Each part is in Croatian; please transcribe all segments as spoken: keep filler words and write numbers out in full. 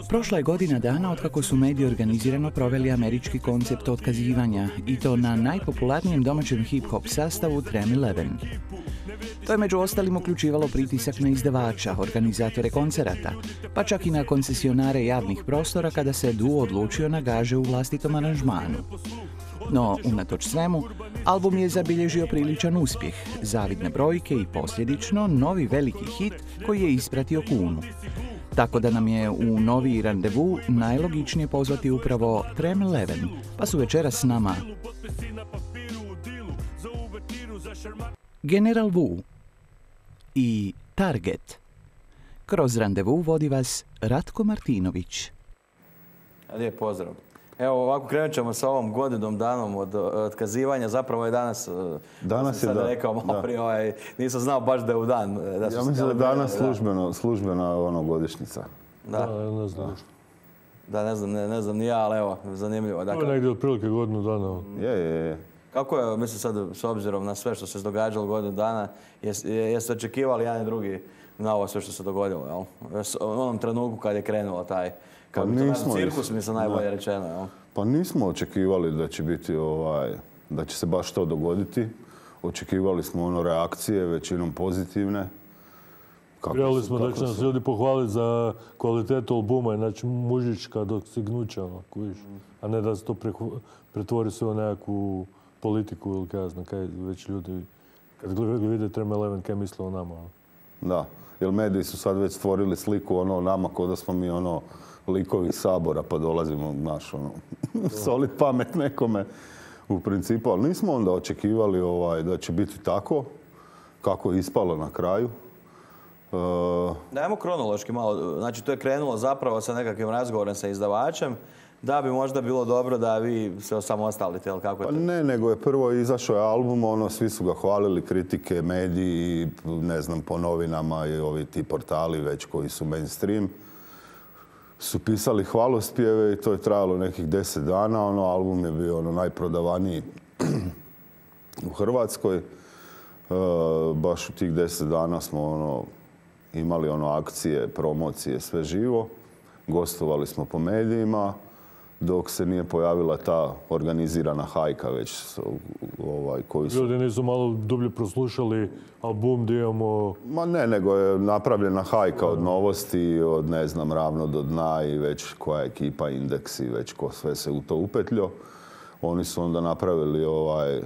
Prošla je godina dana otkako su mediji organizirano proveli američki koncept otkazivanja i to na najpopularnijem domaćem hip-hop sastavu Tram Eleven. To je među ostalim uključivalo pritisak na izdavača, organizatore koncerata, pa čak i na koncesionare javnih prostora kada se duo odlučio na gaže u vlastitom aranžmanu. No, unatoč svemu, album je zabilježio priličan uspjeh, zavidne brojke i posljedično novi veliki hit koji je ispratio Kunu. Tako da nam je u novi randevu najlogičnije pozvati upravo Tram Eleven, pa su večeras s nama General Wu i Target. Kroz randevu vodi vas Ratko Martinović. Lijep pozdrav. Evo, ovako krenut ćemo sa ovom godinom danom od otkazivanja. Zapravo je danas, danas sam je sada da, rekao malo da. prije, ovaj, nisam znao baš da je u dan. Da ja mislim da je danas službeno, službena ono godišnjica. Da, da ne znam. Da, ne znam, ne, ne znam ni ja, ali evo, zanimljivo. Dakle, to je negdje otprilike godinu dana. Je, je, je. Kako je, mislim sad, s obzirom na sve što se događalo godinu dana, jeste jes očekivali jedan i drugi na ovo sve što se dogodilo, jel? U onom trenutku kad je krenulo taj, kad pa bi to nismo, cirkus, mislim, najbolje ne. rečeno, jel? Pa nismo očekivali da će biti ovaj, da će se baš to dogoditi. Očekivali smo ono reakcije, većinom pozitivne. Vjerovali smo da će nas ljudi pohvaliti za kvalitetu albuma, znači mužička dostignuća, kojiš, a ne da se to pretvori sve u nekakvu politiku ili kaj znam, kaj već ljudi, kad vide Tram Eleven, kaj misle o nama. Da, jer mediji su sad već stvorili sliku ono nama kao da smo mi ono likovi Sabora pa dolazimo naš ono solit pamet nekome u principu, ali nismo onda očekivali ovaj, da će biti tako kako je ispalo na kraju. Uh... Dajmo kronološki malo, znači to je krenulo zapravo sa nekakvim razgovorom sa izdavačem, da bi možda bilo dobro da vi se osamostalite, ili kako je to? Pa ne, nego je prvo izašao je album, ono, svi su ga hvalili, kritike, mediji, ne znam, po novinama i ovi ti portali već koji su mainstream, su pisali hvalospjeve i to je trajalo nekih deset dana, ono, album je bio ono najprodavaniji u Hrvatskoj. E, baš u tih deset dana smo ono, imali ono akcije, promocije, sve živo. Gostovali smo po medijima, dok se nije pojavila ta organizirana hajka već ovaj, koji su... Ljudi nisu malo dublje proslušali album gdje imamo... Ma ne, nego je napravljena hajka od novosti, od ne znam, ravno do dna i već koja ekipa, Indeks i već ko sve se u to upetljio. Oni su onda napravili ovaj,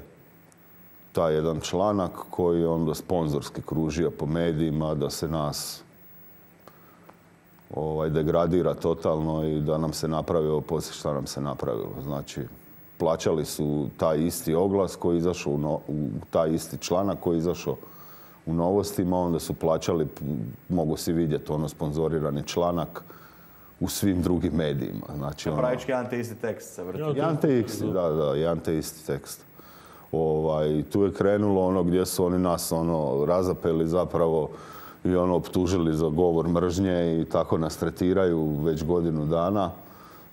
taj jedan članak koji je onda sponzorski kružio po medijima da se nas ovaj, degradira totalno i da nam se napravilo poslije šta nam se napravilo. Znači, plaćali su taj isti oglas koji je izašao u, no, u taj isti članak koji je izašao u novostima, onda su plaćali, mogu si vidjeti, ono sponzorirani članak u svim drugim medijima. Znači, ono, pravički jedan te isti tekst se vrti. Jedan te isti, da, da, jedan te isti tekst. Ovaj, tu je krenulo ono gdje su oni nas ono, razapeli zapravo i ono optužili za govor mržnje i tako nas tretiraju već godinu dana.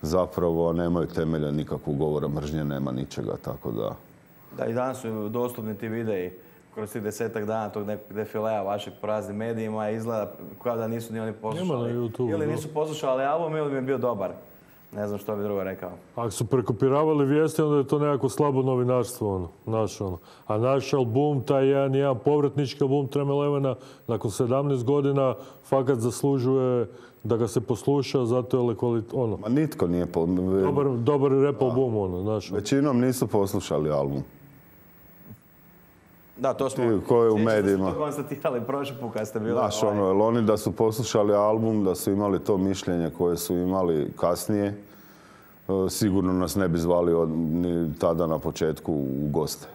Zapravo nemaju temelja nikakvog govora mržnje, nema ničega, tako da... Da, i danas su dostupni ti videi kroz tih desetak dana tog nekog defilea vašeg po raznim medijima, izgleda kao da nisu ni oni poslušali. Ili nisu poslušali album ili mi je bio dobar. Ne znam što bi drugo rekao. Ako su prekopiravali vijesti, onda je to nekako slabo novinarstvo, ono, naš, ono. A naš album, taj jedan, jedan povratnički album Tram Elevena, nakon sedamnaest godina, fakat zaslužuje da ga se posluša, zato je kvalit, ono. Ma nitko nije... Po... Dobar, dobar rap album, ono, znaš. Većinom nisu poslušali album. Da, to smo... Ti koji u medijima... Smo to konstatirali prošli put kad ste bili... Znaš, ono, jer oni da su poslušali album, da su imali to mišljenje koje su imali kasnije, sigurno nas ne bi zvali od, ni tada na početku u goste.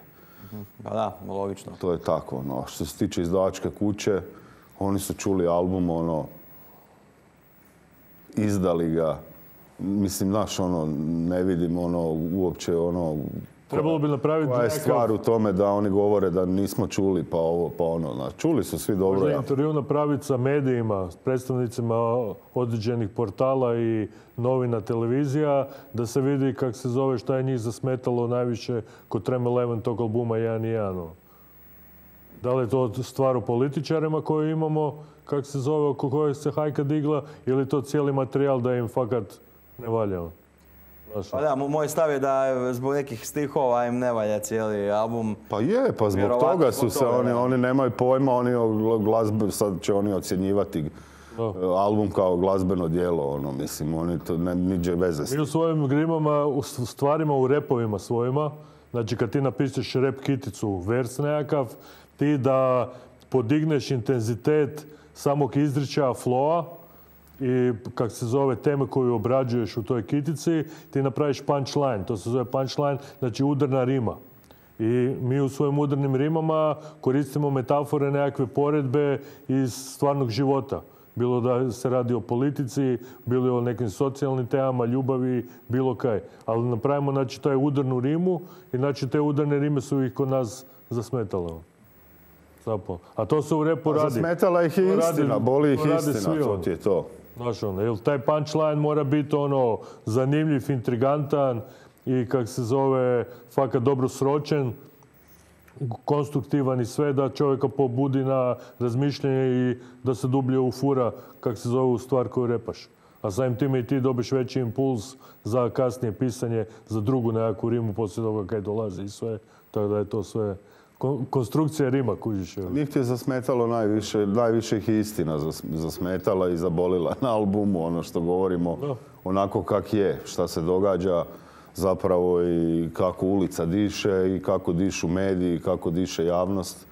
Pa da, logično. To je tako, no. Što se tiče izdavačke kuće, oni su čuli album, ono, izdali ga. Mislim, znaš, ono, ne vidim, ono, uopće, ono... Trebalo bi napraviti... Koja je stvar u tome da oni govore da nismo čuli, pa ovo, pa ono. Znači, čuli su svi dobro. Možda intervju napraviti sa medijima, s predstavnicima određenih portala i novina, televizija, da se vidi kako se zove, šta je njih zasmetalo najviše kod Tram Eleven tog albuma jedan i jedan. Da li je to stvar o političarima koje imamo, kako se zove, oko koje se hajka digla, ili je to cijeli materijal da im fakat ne valja? Pa da, moj stav je da zbog nekih stihova im ne valja cijeli album. Pa je, pa zbog toga su se, oni, oni nemaju pojma, oni glazbe, sad će oni ocjenjivati album kao glazbeno djelo, ono, mislim, oni to ne, niđe veze s tim. Mi u svojim grimama, u stvarima, u repovima svojima, znači kad ti napišeš rep kiticu, vers nekakav, ti da podigneš intenzitet samog izričaja, flowa i kak se zove teme koju obrađuješ u toj kitici, ti napraviš punchline. To se zove punchline, znači udarna rima. I mi u svojim udarnim rimama koristimo metafore, nekakve poredbe iz stvarnog života. Bilo da se radi o politici, bilo o nekim socijalnim temama, ljubavi, bilo kaj. Ali napravimo, znači, taj udarnu rimu i, znači, te udarne rime su ih kod nas zasmetale. Zapravo. A to se u repu radi. Zasmetala ih i istina, boli ih istina, to ti je to. Znaš, ono, jer taj punchline mora biti, ono, zanimljiv, intrigantan i, kak se zove, fakat dobro sročen, konstruktivan i sve, da čovjeka pobudi na razmišljanje i da se dublje ufura, kak se zove, u stvar koju repaš. A samim time i ti dobiš veći impuls za kasnije pisanje, za drugu nekakvu rimu poslije toga kaj dolazi i sve. Tako da je to sve konstrukcija rima, kužiš. Njih ti je zasmetalo najviše, najviše ih istina zasmetala i zabolila na albumu, ono što govorimo, da. Onako kak je, šta se događa zapravo i kako ulica diše i kako dišu mediji, kako diše javnost.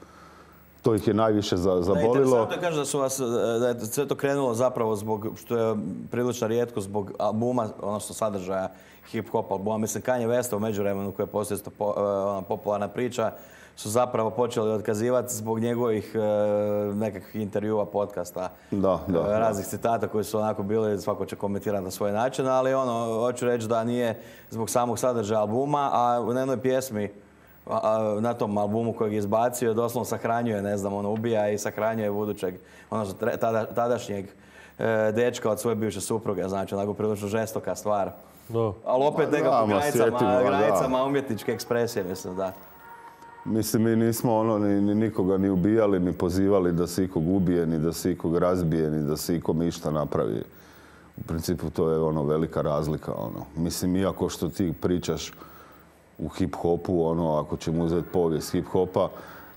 To ih je najviše zabolilo. Interesantno je kaže da su vas, da je sve to krenulo zapravo zbog, što je prilično rijetko, zbog albuma, odnosno sadržaja hip-hop albuma. Mislim, Kanye Westa u međuvremenu, koja je poslije po, popularna priča, su zapravo počeli otkazivati zbog njegovih e, nekakvih intervjua, podcasta, da, da, e, raznih citata koji su onako bili, svako će komentirati na svoj način, ali ono, hoću reći da nije zbog samog sadržaja albuma, a u jednoj pjesmi a, a, na tom albumu kojeg je izbacio, doslovno sahranjuje, ne znam, ono, ubija i sahranjuje budućeg, ono, tada, tadašnjeg e, dečka od svoje bivše supruge, znači, onako prilično žestoka stvar. Da. Ali opet nekako granicama, granicama umjetničke ekspresije, mislim, da. Mislim, mi nismo ono, ni, ni nikoga ni ubijali, ni pozivali da se ikog ubije, ni da se ikog razbije, ni da se ikom išta napravi. U principu to je ono velika razlika. Ono. Mislim, iako što ti pričaš u hip-hopu, ono, ako ćemo uzeti povijest hip-hopa,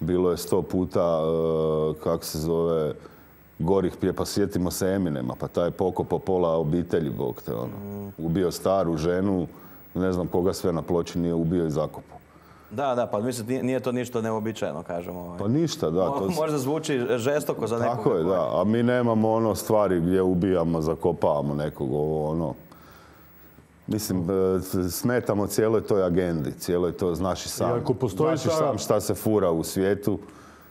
bilo je sto puta, uh, kak se zove, gorih pje, pa sjetimo se Eminema, pa taj je pokopo pola obitelji, bog te, ono. Ubio staru ženu, ne znam koga sve na ploči nije ubio i zakopu. Da, da, pa mislim, nije to ništa neobičajeno, kažemo. Pa ništa, da. To možda zvuči žestoko za nekog. Tako je, da. A mi nemamo ono stvari gdje ubijamo, zakopavamo nekog, ovo, ono. Mislim, smetamo cijeloj toj agendi, cijeloj to, znaš i sam. Znaš i sam šta se fura u svijetu,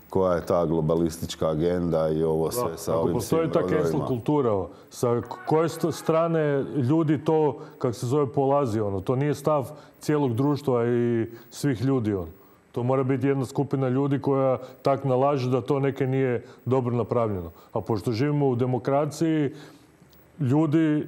koja je ta globalistička agenda i ovo sve da, sa ovim postoji ta cancel kultura, sa koje strane ljudi to, kako se zove, polazi, ono. To nije stav cijelog društva i svih ljudi, ono. To mora biti jedna skupina ljudi koja tak nalaže da to neke nije dobro napravljeno. A pošto živimo u demokraciji, ljudi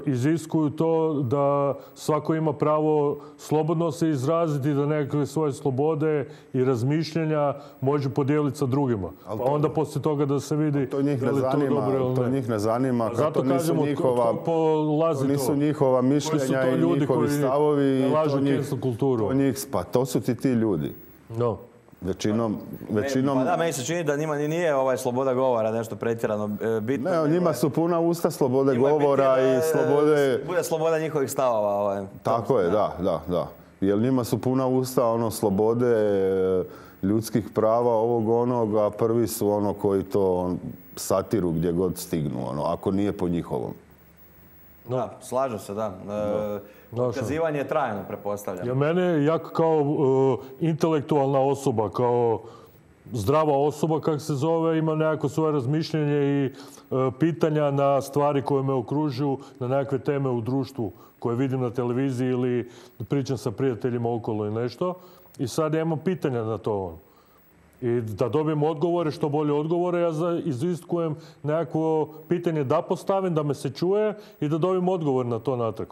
iziskuju to da svako ima pravo slobodno se izraziti, da nekakve svoje slobode i razmišljanja može podijeliti sa drugima. Pa onda poslije toga da se vidi to njih ne zanima, to njih ne zanima, zato to nisu njihova, to nisu njihova mišljenja i njihovi stavovi. To njih, to njih, pa to su ti ti ljudi. No. Većinom, većinom... Pa da, meni se čini da njima nije ovaj sloboda govora nešto pretjerano bitno. Ne, njima su puna usta slobode govora i slobode... Bude sloboda njihovih stavova. Ovaj. Tako je, da, da, da. Jer njima su puna usta ono slobode ljudskih prava ovog onog, a prvi su ono koji to satiru gdje god stignu, ono, ako nije po njihovom. Da, slažem se, da. Ukazivanje je trajno, pretpostavljam. Ja mene, ja kao uh, intelektualna osoba, kao zdrava osoba, kako se zove, ima nekako svoje razmišljenje i uh, pitanja na stvari koje me okružuju, na nekakve teme u društvu koje vidim na televiziji ili pričam sa prijateljima okolo i nešto. I sad ja imam pitanja na to. I da dobijem odgovore, što bolje odgovore, ja iziskujem nekakvo pitanje da postavim, da me se čuje i da dobijem odgovor na to natrag.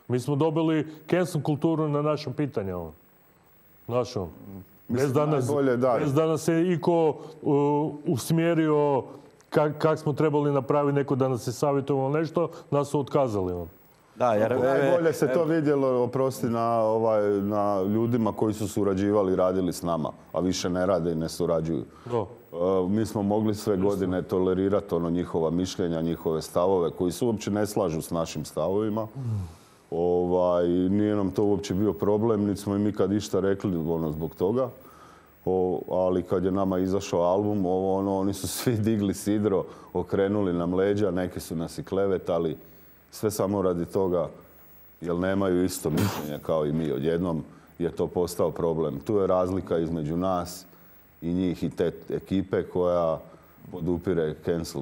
Mi smo dobili cancel kulturu na naša pitanja. Našo. Bez da nas, bez da nas se iko uh, usmjerio kak, kak smo trebali napraviti, neko da nas je savjetovalo nešto, nas su otkazali on. Da, jer... Najbolje se to vidjelo, oprosti, na, ovaj, na ljudima koji su surađivali i radili s nama, a više ne rade i ne surađuju. Do. Uh, mi smo mogli sve godine tolerirati ono njihova mišljenja, njihove stavove, koji se uopće ne slažu s našim stavovima. Mm. Ovaj, nije nam to uopće bio problem, niti smo im ikad išta rekli ono, zbog toga. O, ali kad je nama izašao album, ovo, ono, oni su svi digli sidro, okrenuli nam leđa, neki su nas i klevetali. Sve samo radi toga, jer nemaju isto mišljenje kao i mi. Odjednom je to postao problem. Tu je razlika između nas i njih i te ekipe koja podupire cancel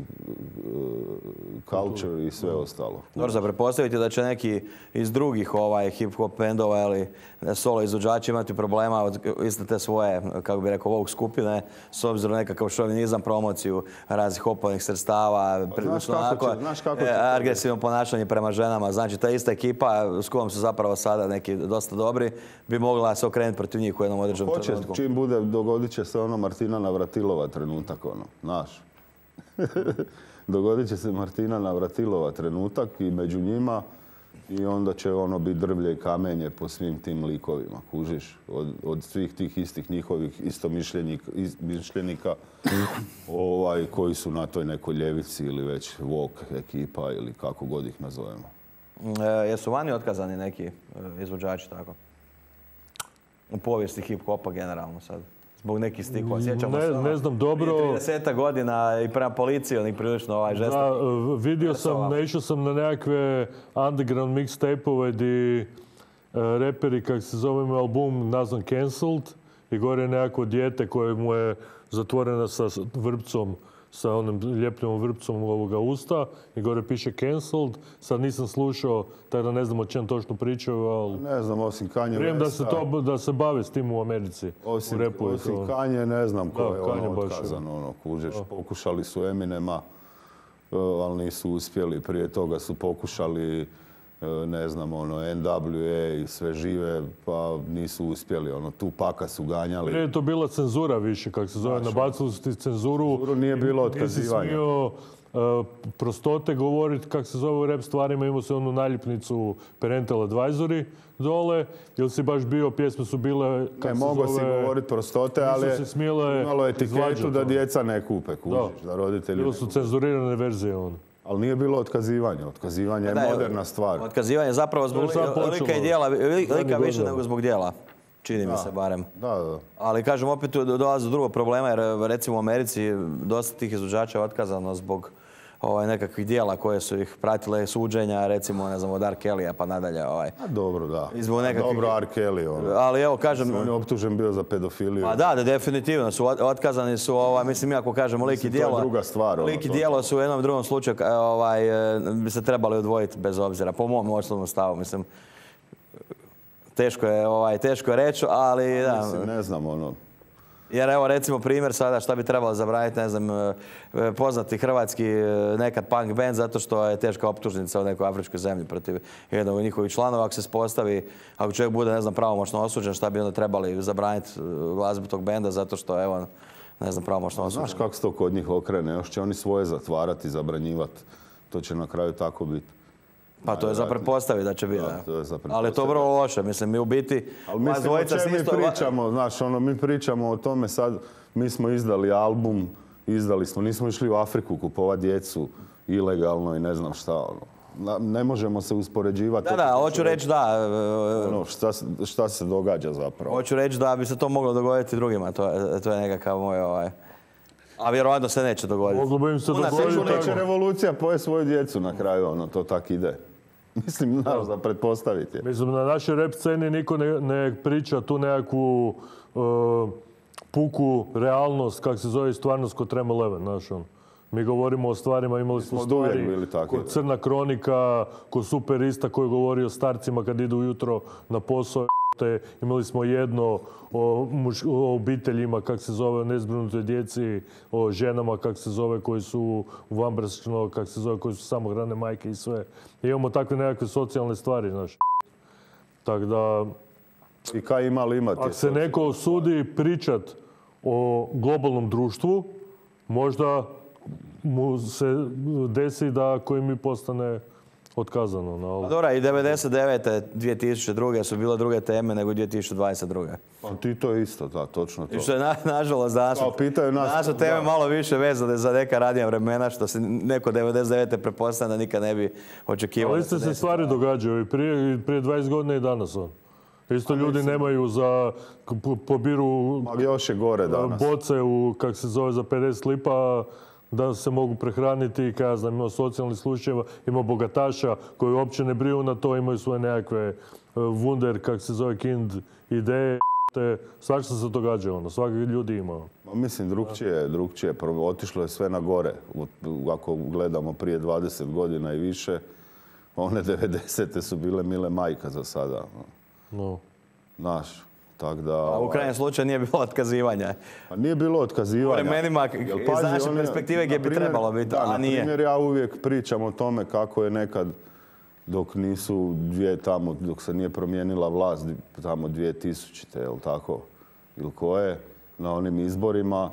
culture i sve ostalo. Dobro, za pretpostaviti da će neki iz drugih ovaj, hip-hop bendova ili solo izvođači imati problema od iste te svoje, kako bi rekao, ovog skupine, s obzirom na nekakav šovinizam, promociju raznih hopovnih sredstava, znaš kako će, znaš kako će agresivno ponašanje prema ženama. Znači, ta ista ekipa s kojom su zapravo sada neki dosta dobri, bi mogla se okrenuti protiv njih u jednom određenom Hoće, trenutku. Čim bude, dogodit će se ono Martina Navratilova trenutak, ono, znaš. Dogodit će se Martina Navratilova trenutak i među njima i onda će ono biti drvlje i kamenje po svim tim likovima, kužiš, od, od svih tih istih njihovih istomišljenika ovaj, koji su na toj nekoj ljevici ili već woke ekipa ili kako god ih nazovemo. E, jesu vani otkazani neki e, izvođači tako? U povijesti hip-hopa generalno sad. Zbog nekih stikova. Sjećamo ne, se ne znam dobro. Prije trideset godina i prema policiji onih prilično ovaj žestok. Da, vidio sam, naišao sam na nekakve underground mixtape-ove gdje uh, reperi, kak se zove album, nazvan Cancelled, i gore je nekako dijete koje mu je zatvorena sa vrpcom, sa onim ljepljivom vrpcom ovoga usta i gore piše Cancelled. Sad nisam slušao, tako da ne znam o čem točno pričaju, ali... Ne znam, osim Kanye Westa. Vjerujem da se, to, da se bave s tim u Americi. Osim, u repu osim to... Kanye, ne znam ko da, je ono otkazan, ono, kužeš. Da. Pokušali su Eminema, ali nisu uspjeli. Prije toga su pokušali, ne znam, ono, N W A i sve žive, pa nisu uspjeli. Ono, Tupaka su ganjali. Prije je to bila cenzura više, kako se zove. Nabacili su ti cenzuru. Cenzuru nije bilo otkazivanja. Nisi smio uh, prostote govoriti, kako se zove u rap stvarima. Imao se onu naljepnicu Parental Advisory dole. Ili si baš bio, pjesme su bile, kako se zove... Ne, mogo si govoriti prostote, ali je imalo etiketu da djeca ne kupe, kužiš, da, da roditelji bilo su cenzurirane verzije ono. Ali nije bilo otkazivanja. Otkazivanje je da, moderna stvar. Otkazivanje je zapravo zbog lika i dijela, lika više nego zbog dijela. Čini da, mi se barem. Da, da. Ali kažem, opet dolazi do drugog problema, jer recimo u Americi dosta tih izvođača je otkazano zbog ovaj, nekakvih dijela koje su ih pratile suđenja, recimo, ne znam, od R. Kelly-a pa nadalje. Ovaj. A dobro, da. Nekakvih... Dobro, R. Kelly, ono. Ali evo, kažem... On je optužen bio za pedofiliju. Pa da, da, definitivno su otkazani su, ovaj, mislim, ako kažemo lik i dijelo... To je druga stvar. Lik i dijelo su u jednom drugom slučaju ovaj, bi se trebali odvojiti bez obzira, po mom osnovnom stavu, mislim. Teško je, ovaj, teško je reći, ali da... Mislim, ne znam, ono... Jer evo recimo primjer sada šta bi trebalo zabraniti, ne znam, poznati hrvatski nekad punk band zato što je teška optužnica u nekoj afričkoj zemlji protiv jednog od njihovih članova. Ako se spostavi, ako čovjek bude, ne znam, pravomoćno osuđen, šta bi onda trebali zabraniti glazbu tog benda zato što, evo, ne znam, pravomoćno osuđen. Znaš kako se to kod njih okrene? Još će oni svoje zatvarati, zabranjivati. To će na kraju tako biti. Pa to je za pretpostaviti da će biti, da. To je za ali je to vrlo loše, mislim, mi u biti... Ali mislim, o čem mi pričamo, znaš, ono, mi pričamo o tome sad, mi smo izdali album, izdali smo, nismo išli u Afriku kupovati djecu ilegalno i ne znam šta, ono. Ne možemo se uspoređivati. Da, da, hoću reći da... Ono, šta, šta se događa zapravo? Hoću reći da bi se to moglo dogoditi drugima, to je, to je nekakav moj ovaj... A vjerovatno se neće dogoditi. Moglo bi im se dogoditi. Neće revolucija poje svoju djecu na kraju, ono, to tak ide. Mislim, znaš, da pretpostaviti. Mislim, na našoj rap sceni niko ne, ne priča tu nekakvu uh, puku realnost, kak se zove stvarnost kod Trem Eleven, znaš, on. Mi govorimo o stvarima, imali smo stvari kod Crna kronika, kod Superista koji govori o starcima kad idu ujutro na posao. Imali smo jedno o, muš, o obiteljima, kak se zove, o nezbrinutoj djeci, o ženama, kak se zove, koji su vanbračno, kak se zove, koji su samohrane majke i sve. I imamo takve nekakve socijalne stvari, znaš. Tako da, I kaj ima li imati? Ako se neko osudi pričat o globalnom društvu, možda mu se desi da koji mi postane otkazano. No. Pa dobro, i devedeset devete. dvije tisuće druge su bile druge teme nego dvije tisuće dvadeset druge. Pa ti to isto, da, točno to. I što je, na, nažalost, danas naše teme malo više vezane za neka radnija vremena, što se neko devedeset devete pretpostavlja da nikad ne bi očekivao. Ali iste se stvari događaju i prije, prije dvadeset godina i danas. On. Isto ljudi mislim, nemaju za, pobiru još je gore danas. Boce u, kak se zove, za pedeset lipa, da se mogu prehraniti, kada ja znam, ima socijalnih slučajeva, ima bogataša koji uopće ne briju na to, imaju svoje nekakve wunder, kak se zove, kind ideje. Svašta se događa, ono, svaki ljudi ima. Mislim, drugčije, drugčije. Otišlo je sve na gore. Ako gledamo prije dvadeset godina i više, one devedesete su bile mile majka za sada. No. Znaš, tak da... A u krajnjem slučaju nije bilo otkazivanja. Pa nije bilo otkazivanja. U vremenima iz naše perspektive gdje bi trebalo biti, a nije. Na primjer, ja uvijek pričam o tome kako je nekad, dok nisu dvije tamo, dok se nije promijenila vlast tamo dvije tisućite, jel tako? Ili koje, na onim izborima.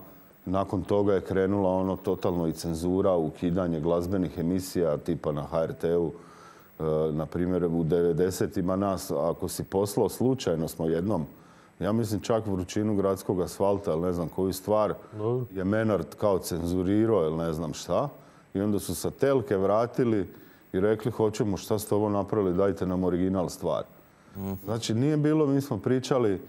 Nakon toga je krenula ono totalno i cenzura, ukidanje glazbenih emisija tipa na ha er te u. Na primjer, u devedesetima nas, ako si poslao slučajno smo jednom, ja mislim čak vrućinu gradskog asfalta, ili ne znam koju stvar, je Menard kao cenzurirao ili ne znam šta. I onda su sa telke vratili i rekli hoćemo šta ste ovo napravili, dajte nam original stvar. Znači nije bilo, mi smo pričali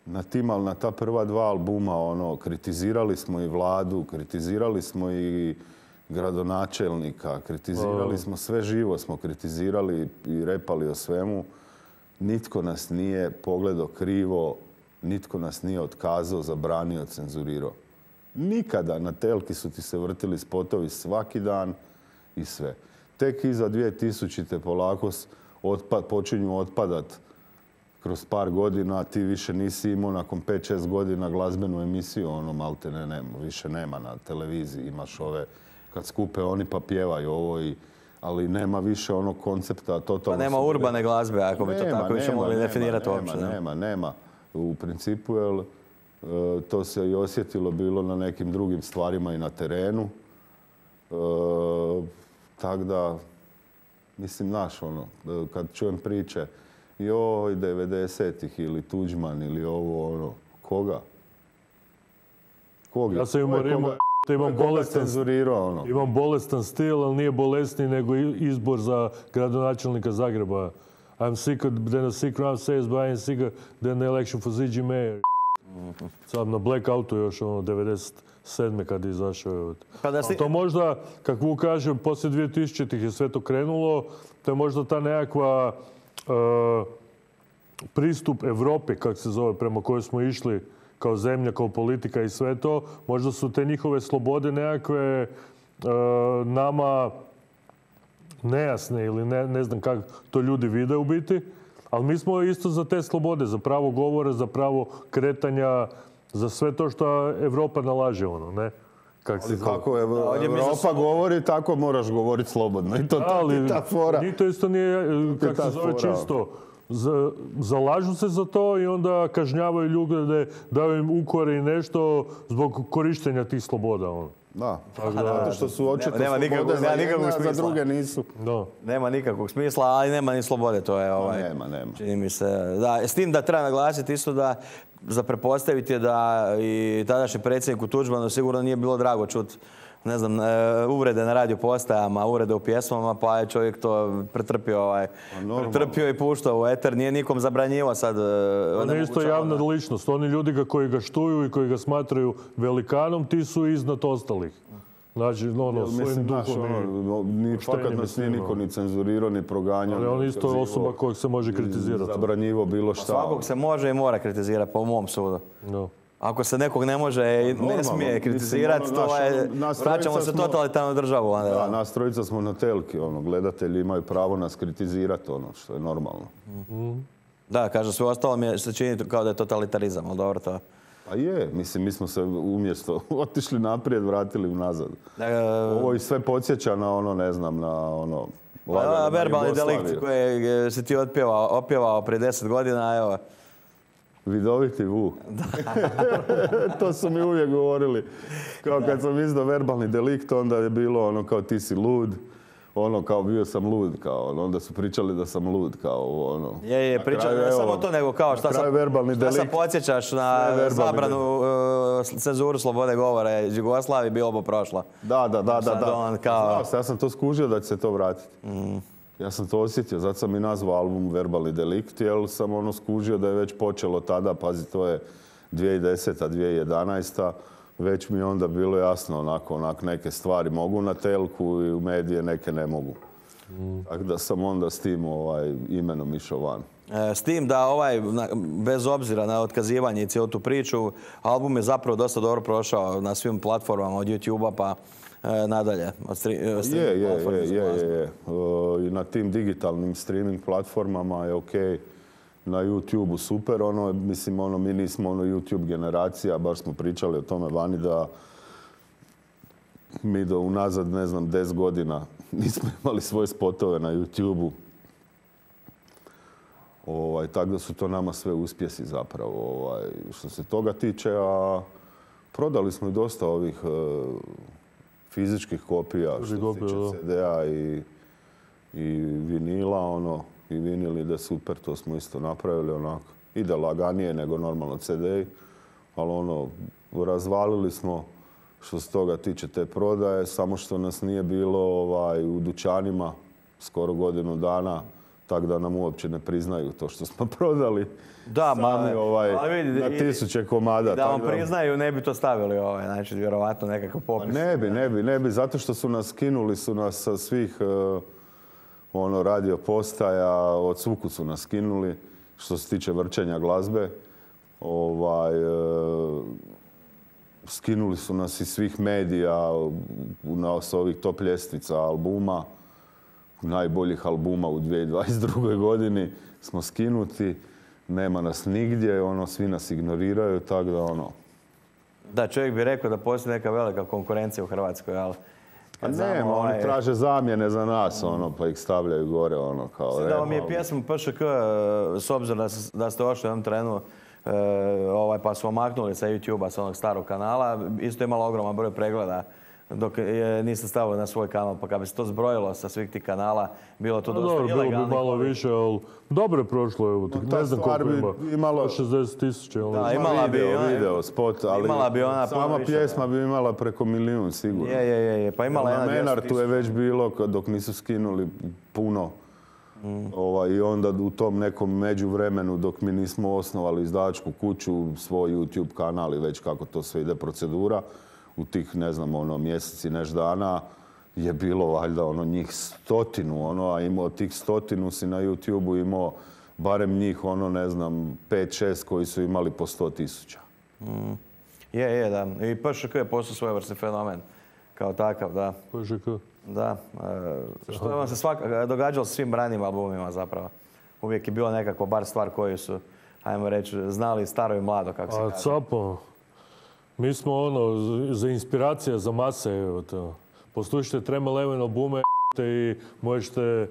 na tim, ali na ta prva dva albuma, ono, kritizirali smo i vladu, kritizirali smo i gradonačelnika, kritizirali smo sve živo, smo kritizirali i repali o svemu. Nitko nas nije pogledao krivo, nitko nas nije otkazao, zabranio, cenzurirao. Nikada na telki su ti se vrtili spotovi svaki dan i sve. Tek iza dvije tisućite polako otpad, počinju otpadat kroz par godina, ti više nisi imao nakon pet šest godina glazbenu emisiju, ono malte ne, ne, više nema na televiziji, imaš ove kad skupe oni pa pjevaju ovo, i, ali nema više onog koncepta totalno... Pa nema urbane glazbe, ako bi to tako više mogli definirati uopće. Nema, nema, nema. U principu, jel, to se i osjetilo bilo na nekim drugim stvarima i na terenu. E, tak da, mislim, naš, ono, kad čujem priče, joj, devedesetih ili Tuđman ili ovo, ono, koga? Koga? Ja sam umorimo... Imam bolestan, ono. imam bolestan stil, ali nije bolesniji nego izbor za gradonačelnika Zagreba. I'm sicker than a sick round says, but I'm sicker than the election for Ziđi Mayor. Sad na Blackoutu još ono devedeset sedme kad je izašao. Pa si... To možda, kako Vuk kaže, poslije dvije tisućitih je sve to krenulo. To je možda ta nekakva uh, pristup Evropi, kako se zove, prema kojoj smo išli kao zemlja, kao politika i sve to. Možda su te njihove slobode nekakve e, nama nejasne ili ne, ne znam kako to ljudi vide u biti. Ali mi smo isto za te slobode, za pravo govora, za pravo kretanja, za sve to što Evropa nalaže, ono, ne? Kak ali kako Evropa Evropa govori, tako moraš govoriti slobodno. I to ali, ta fora. Ni to isto nije, kako se zove, čisto. Zalažu se za to i onda kažnjavaju ljude, daju im ukore i nešto zbog korištenja tih sloboda. Ono. Da, zato što su očito nema, nema slobode za jedne, a za druge nisu. Da. Nema nikakvog smisla, ali nema ni slobode, to je ovaj... Nema, nema. Čini mi se, da, s tim da treba naglasiti isto da za prepostaviti je da i tadašnji predsjedniku Tuđmanu sigurno nije bilo drago čuti, ne znam, uvrede na radio postajama, uvrede u pjesmama, pa je čovjek to pretrpio, ovaj, pretrpio i puštao u eter. Nije nikom zabranjivo sad. On je isto javna ličnost. Oni ljudi koji ga štuju i koji ga smatraju velikanom, ti su iznad ostalih. Znači, ono, svojim duhom i fakat nas nije niko ni cenzurirao, ni proganjao. Ali on isto osoba kojeg se može kritizirati. Zabranjivo bilo šta. Svakog se može i mora kritizirati, po mom sudu. No. Ako se nekog ne može i ne smije kritizirati, to je, vraćamo se totalitarnu državu. Da, nas trojica smo na telki, ono, gledatelji imaju pravo nas kritizirati, ono, što je normalno. Da, kaže, sve ostalo mi se čini kao da je totalitarizam, ali dobro to. Pa je, mislim, mi smo se umjesto otišli naprijed, vratili nazad. Ovo i sve podsjeća na ono, ne znam, na ono... Verbalni delikt koji si ti otpjevao, opjevao prije deset godina, evo, Vidoviti Vu. To su mi uvijek govorili. Kao kad sam izdao Verbalni delikt, onda je bilo ono kao ti si lud. Ono kao bio sam lud, kao ono, onda su pričali da sam lud, kao ono. Je, je, pričali ne samo to, nego kao šta sam, šta sam podsjećaš na zabranu uh, cenzuru slobode govora Jugoslavije, bilo bo prošla. Da, da, da, da. da. On, kao... Znao se, ja sam to skužio da će se to vratiti. Mm. Ja sam to osjetio, zato sam i nazvao album Verbalni delikt, jer sam ono skužio da je već počelo tada, pazi, to je dvije tisuće deseta, dvije tisuće jedanaesta. Već mi je onda bilo jasno, onako, onako neke stvari mogu na telku i u medije, neke ne mogu. Mm. Tako da sam onda s tim ovaj, imenom išao van. E, s tim da ovaj, bez obzira na otkazivanje i cijelu tu priču, album je zapravo dosta dobro prošao na svim platformama od YouTube-a pa e, nadalje. Od stri, je, je, je, je, je, je. I na tim digitalnim streaming platformama je okej. Okay. Na YouTube-u super, ono, mislim, ono, mi nismo ono YouTube generacija, baš smo pričali o tome vani da mi do unazad, ne znam, deset godina nismo imali svoje spotove na YouTube-u. Ovaj, tako da su to nama sve uspjesi zapravo. Ovaj, što se toga tiče, a prodali smo i dosta ovih e, fizičkih kopija, što se tiče ce de a i, i vinila, ono. I vinil ide super, to smo isto napravili onako. Ide laganije nego normalno ce de, ali ono, razvalili smo što se toga tiče te prodaje, samo što nas nije bilo ovaj, u dućanima skoro godinu dana, tako da nam uopće ne priznaju to što smo prodali. Da, sami, ovaj, vidi, na tisuće komada. Da vam priznaju, ne bi to stavili, ovaj, znači, vjerovatno nekakav popis. Ne bi, ne bi, ne bi, zato što su nas skinuli, su nas sa svih... Uh, ono, radio postaja, od svukud su nas skinuli, što se tiče vrčenja glazbe. Ovaj, e, skinuli su nas iz svih medija, na s ovih top ljestvica albuma, najboljih albuma u dvije tisuće dvadeset drugoj godini smo skinuti. Nema nas nigdje, ono, svi nas ignoriraju, tako da ono... Da, čovjek bi rekao da postoji neka velika konkurencija u Hrvatskoj, ali... A nema, ovaj... oni traže zamjene za nas, ono, pa ih stavljaju gore, ono, kao... Da vam je pjesma pe še ke, s obzirom da, da ste ošli u jednom trenu, e, ovaj, pa su omaknuli sa YouTube-a, sa onog starog kanala, isto je imalo ogroman broj pregleda, dok je, niste stavili na svoj kanal, pa kad bi se to zbrojilo sa svih tih kanala, bilo to dosta ilegalnih. Bilo bi malo više, ali dobro je prošlo, evo, no, ne znam koliko ima, imalo šezdeset tisuća. Da, imala bi video, video spot, ali imala bi ona sama pjesma bi imala preko milijun, sigurno. Je, je, je, pa imala jedna dvjesto tisuća. Na Menartu je već bilo, dok nisu skinuli puno. Mm. Ovaj, I onda u tom nekom međuvremenu, dok mi nismo osnovali izdavačku kuću, svoj YouTube kanal i već kako to sve ide procedura, u tih, ne znam, ono, mjeseci, neš dana je bilo valjda ono njih stotinu, ono, a imao tih stotinu si na YouTube-u imao barem njih, ono, ne znam, pet, šest koji su imali po sto tisuća. Mm. Je, je, da. I pe še ke je postao svojevrsni fenomen. Kao takav, da. pe še ke? Da. E, što je vam se svaka, događalo s svim ranijim albumima zapravo? Uvijek je bilo nekako bar stvar koju su, ajmo reći, znali staro i mlado, kako se kaže. A capo. Mi smo ono, za inspiracija za mase, evo to. Poslušajte Treme Eleven albume i možete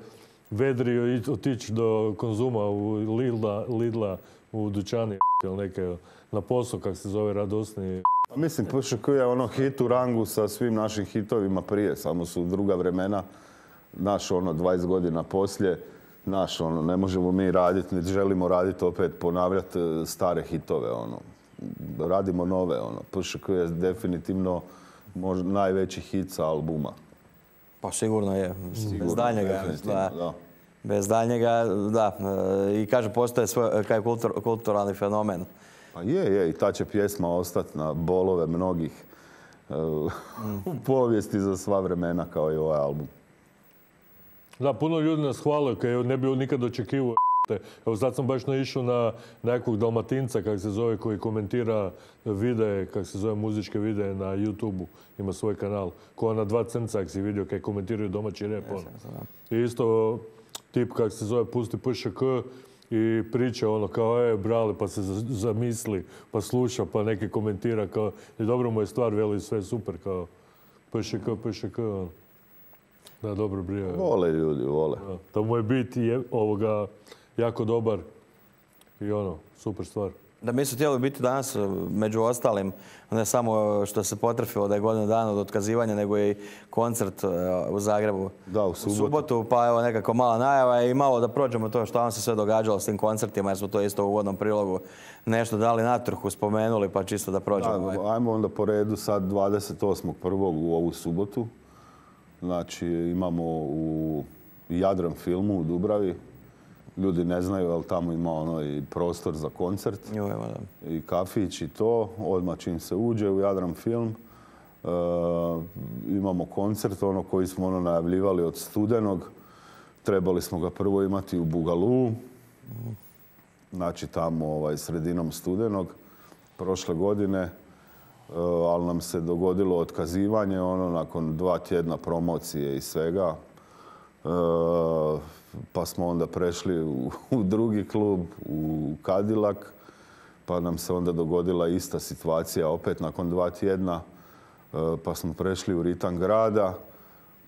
vedri otići do konzuma u Lidla, Lidla u dućani ili neke na posao, kak se zove, radosni. Mislim, pe še ke je ono hit u rangu sa svim našim hitovima prije, samo su druga vremena. Naš ono, dvadeset godina poslije, naš ono, ne možemo mi raditi, niti želimo raditi opet, ponavljati stare hitove, ono. Radimo nove, ono. pe še ke je definitivno možda najveći hit sa albuma. Pa sigurno je, sigurno, bez daljnjega. Da. Da. Bez daljnjega, da. I kaže, postoje svoj, kaj kultur, kulturalni fenomen. Pa je, je, i ta će pjesma ostati na bolove mnogih uh, mm. u povijesti za sva vremena kao i ovaj album. Da, puno ljudi nas hvale, kaj ne bi nikad očekivao. Evo sad sam baš naišao na nekog Dalmatinca, kak se zove, koji komentira videe, kak se zove, muzičke videe na YouTube-u. Ima svoj kanal. Ko na dva crnca, kak si vidio, kaj komentiraju domaći rap. I isto tip, kak se zove, pusti pe še ke i priča ono kao, e, brale, pa se zamisli, pa sluša, pa neki komentira kao, i dobro mu je stvar, veli sve super, kao, pe še ke, pe še ke. Da, dobro brije. Vole ljudi, vole. Da, to mu je bit je ovoga jako dobar i ono, super stvar. Da, mi su htjeli biti danas, među ostalim, ne samo što se potrefilo da je godinu dana od otkazivanja, nego i koncert u Zagrebu. Da, u subotu. U subotu, pa evo nekako mala najava i malo da prođemo to što vam se sve događalo s tim koncertima, jer smo to isto u uvodnom prilogu nešto dali natrhu, spomenuli, pa čisto da prođemo. Da, ajmo onda po redu sad dvadeset osmog prvog u ovu subotu. Znači, imamo u Jadran filmu u Dubravi. Ljudi ne znaju, ali tamo ima ono i prostor za koncert. Jo, evo, da. I kafić i to. Odmah čim se uđe u Jadran film. E, imamo koncert ono koji smo ono najavljivali od studenog. Trebali smo ga prvo imati u Bugalu. Znači tamo ovaj, sredinom studenog prošle godine. E, ali nam se dogodilo otkazivanje ono nakon dva tjedna promocije i svega. E, pa smo onda prešli u, u drugi klub, u Cadillac, pa nam se onda dogodila ista situacija opet nakon dva tjedna, e, pa smo prešli u Ritam grada,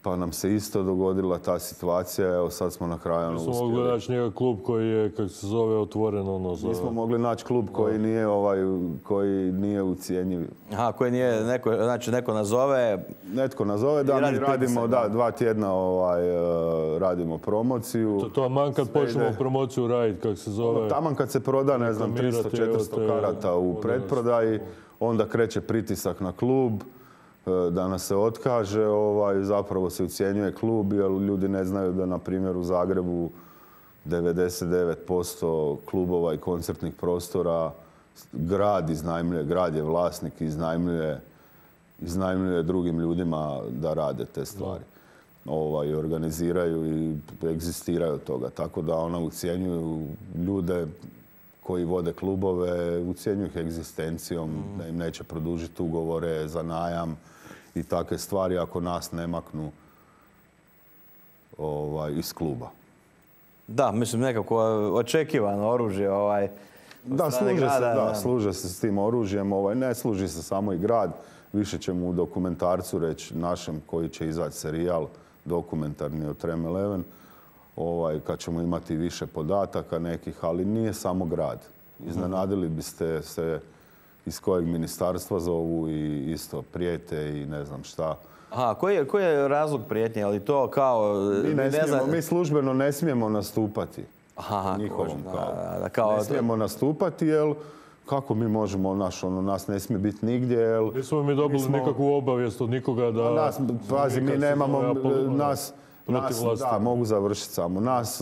pa nam se isto dogodila ta situacija, evo sad smo na kraju ono uspjeli. Nismo mogli naći njega klub koji je, kako se zove, otvoren ono za... Nismo mogli naći klub koji nije, ovaj, koji nije ucijenjiv. Aha, koji nije, neko, znači neko nazove... Netko nazove, da mi radimo, da, dva tjedna ovaj, radimo promociju. To, to man kad počnemo promociju raditi, kako se zove... Ono, taman kad se proda, ne znam, tristo četiristo karata u pretprodaji, onda kreće pritisak na klub, da nas se otkaže, ovaj, zapravo se ucijenjuje klub, jer ljudi ne znaju da, na primjer, u Zagrebu devedeset devet posto klubova i koncertnih prostora grad iznajmljuje, grad je vlasnik i iznajmljuje, iznajmljuje drugim ljudima da rade te stvari. Ovaj, organiziraju i egzistiraju od toga. Tako da ona ucijenjuju ljude koji vode klubove, ucijenjuju ih egzistencijom, mm. da im neće produžiti ugovore za najam i takve stvari ako nas ne maknu ovaj, iz kluba. Da, mislim nekako očekivano oružje. Ovaj, da, služe grada, se, da, da, služe se s tim oružjem. Ovaj, ne služi se samo i grad. Više ćemo u dokumentarcu reći našem koji će izaći serijal dokumentarni o Trem Eleven. Ovaj, kad ćemo imati više podataka nekih, ali nije samo grad. Iznenadili biste se iz kojeg ministarstva zovu i isto prijete i ne znam šta. Aha, koji je, koji je razlog prijetnje? Ali to kao... Mi, ne smijemo, ne mi službeno ne smijemo nastupati. Aha, njihovom kožem, kao. Da, da, kao... Ne smijemo nastupati, jer kako mi možemo, naš, ono, nas ne smije biti nigdje, jer... Nismo mi dobili mi smo... nikakvu obavijest od nikoga da... Nas, pazi, mi nemamo... Nas, nas, da, mogu završiti samo. Nas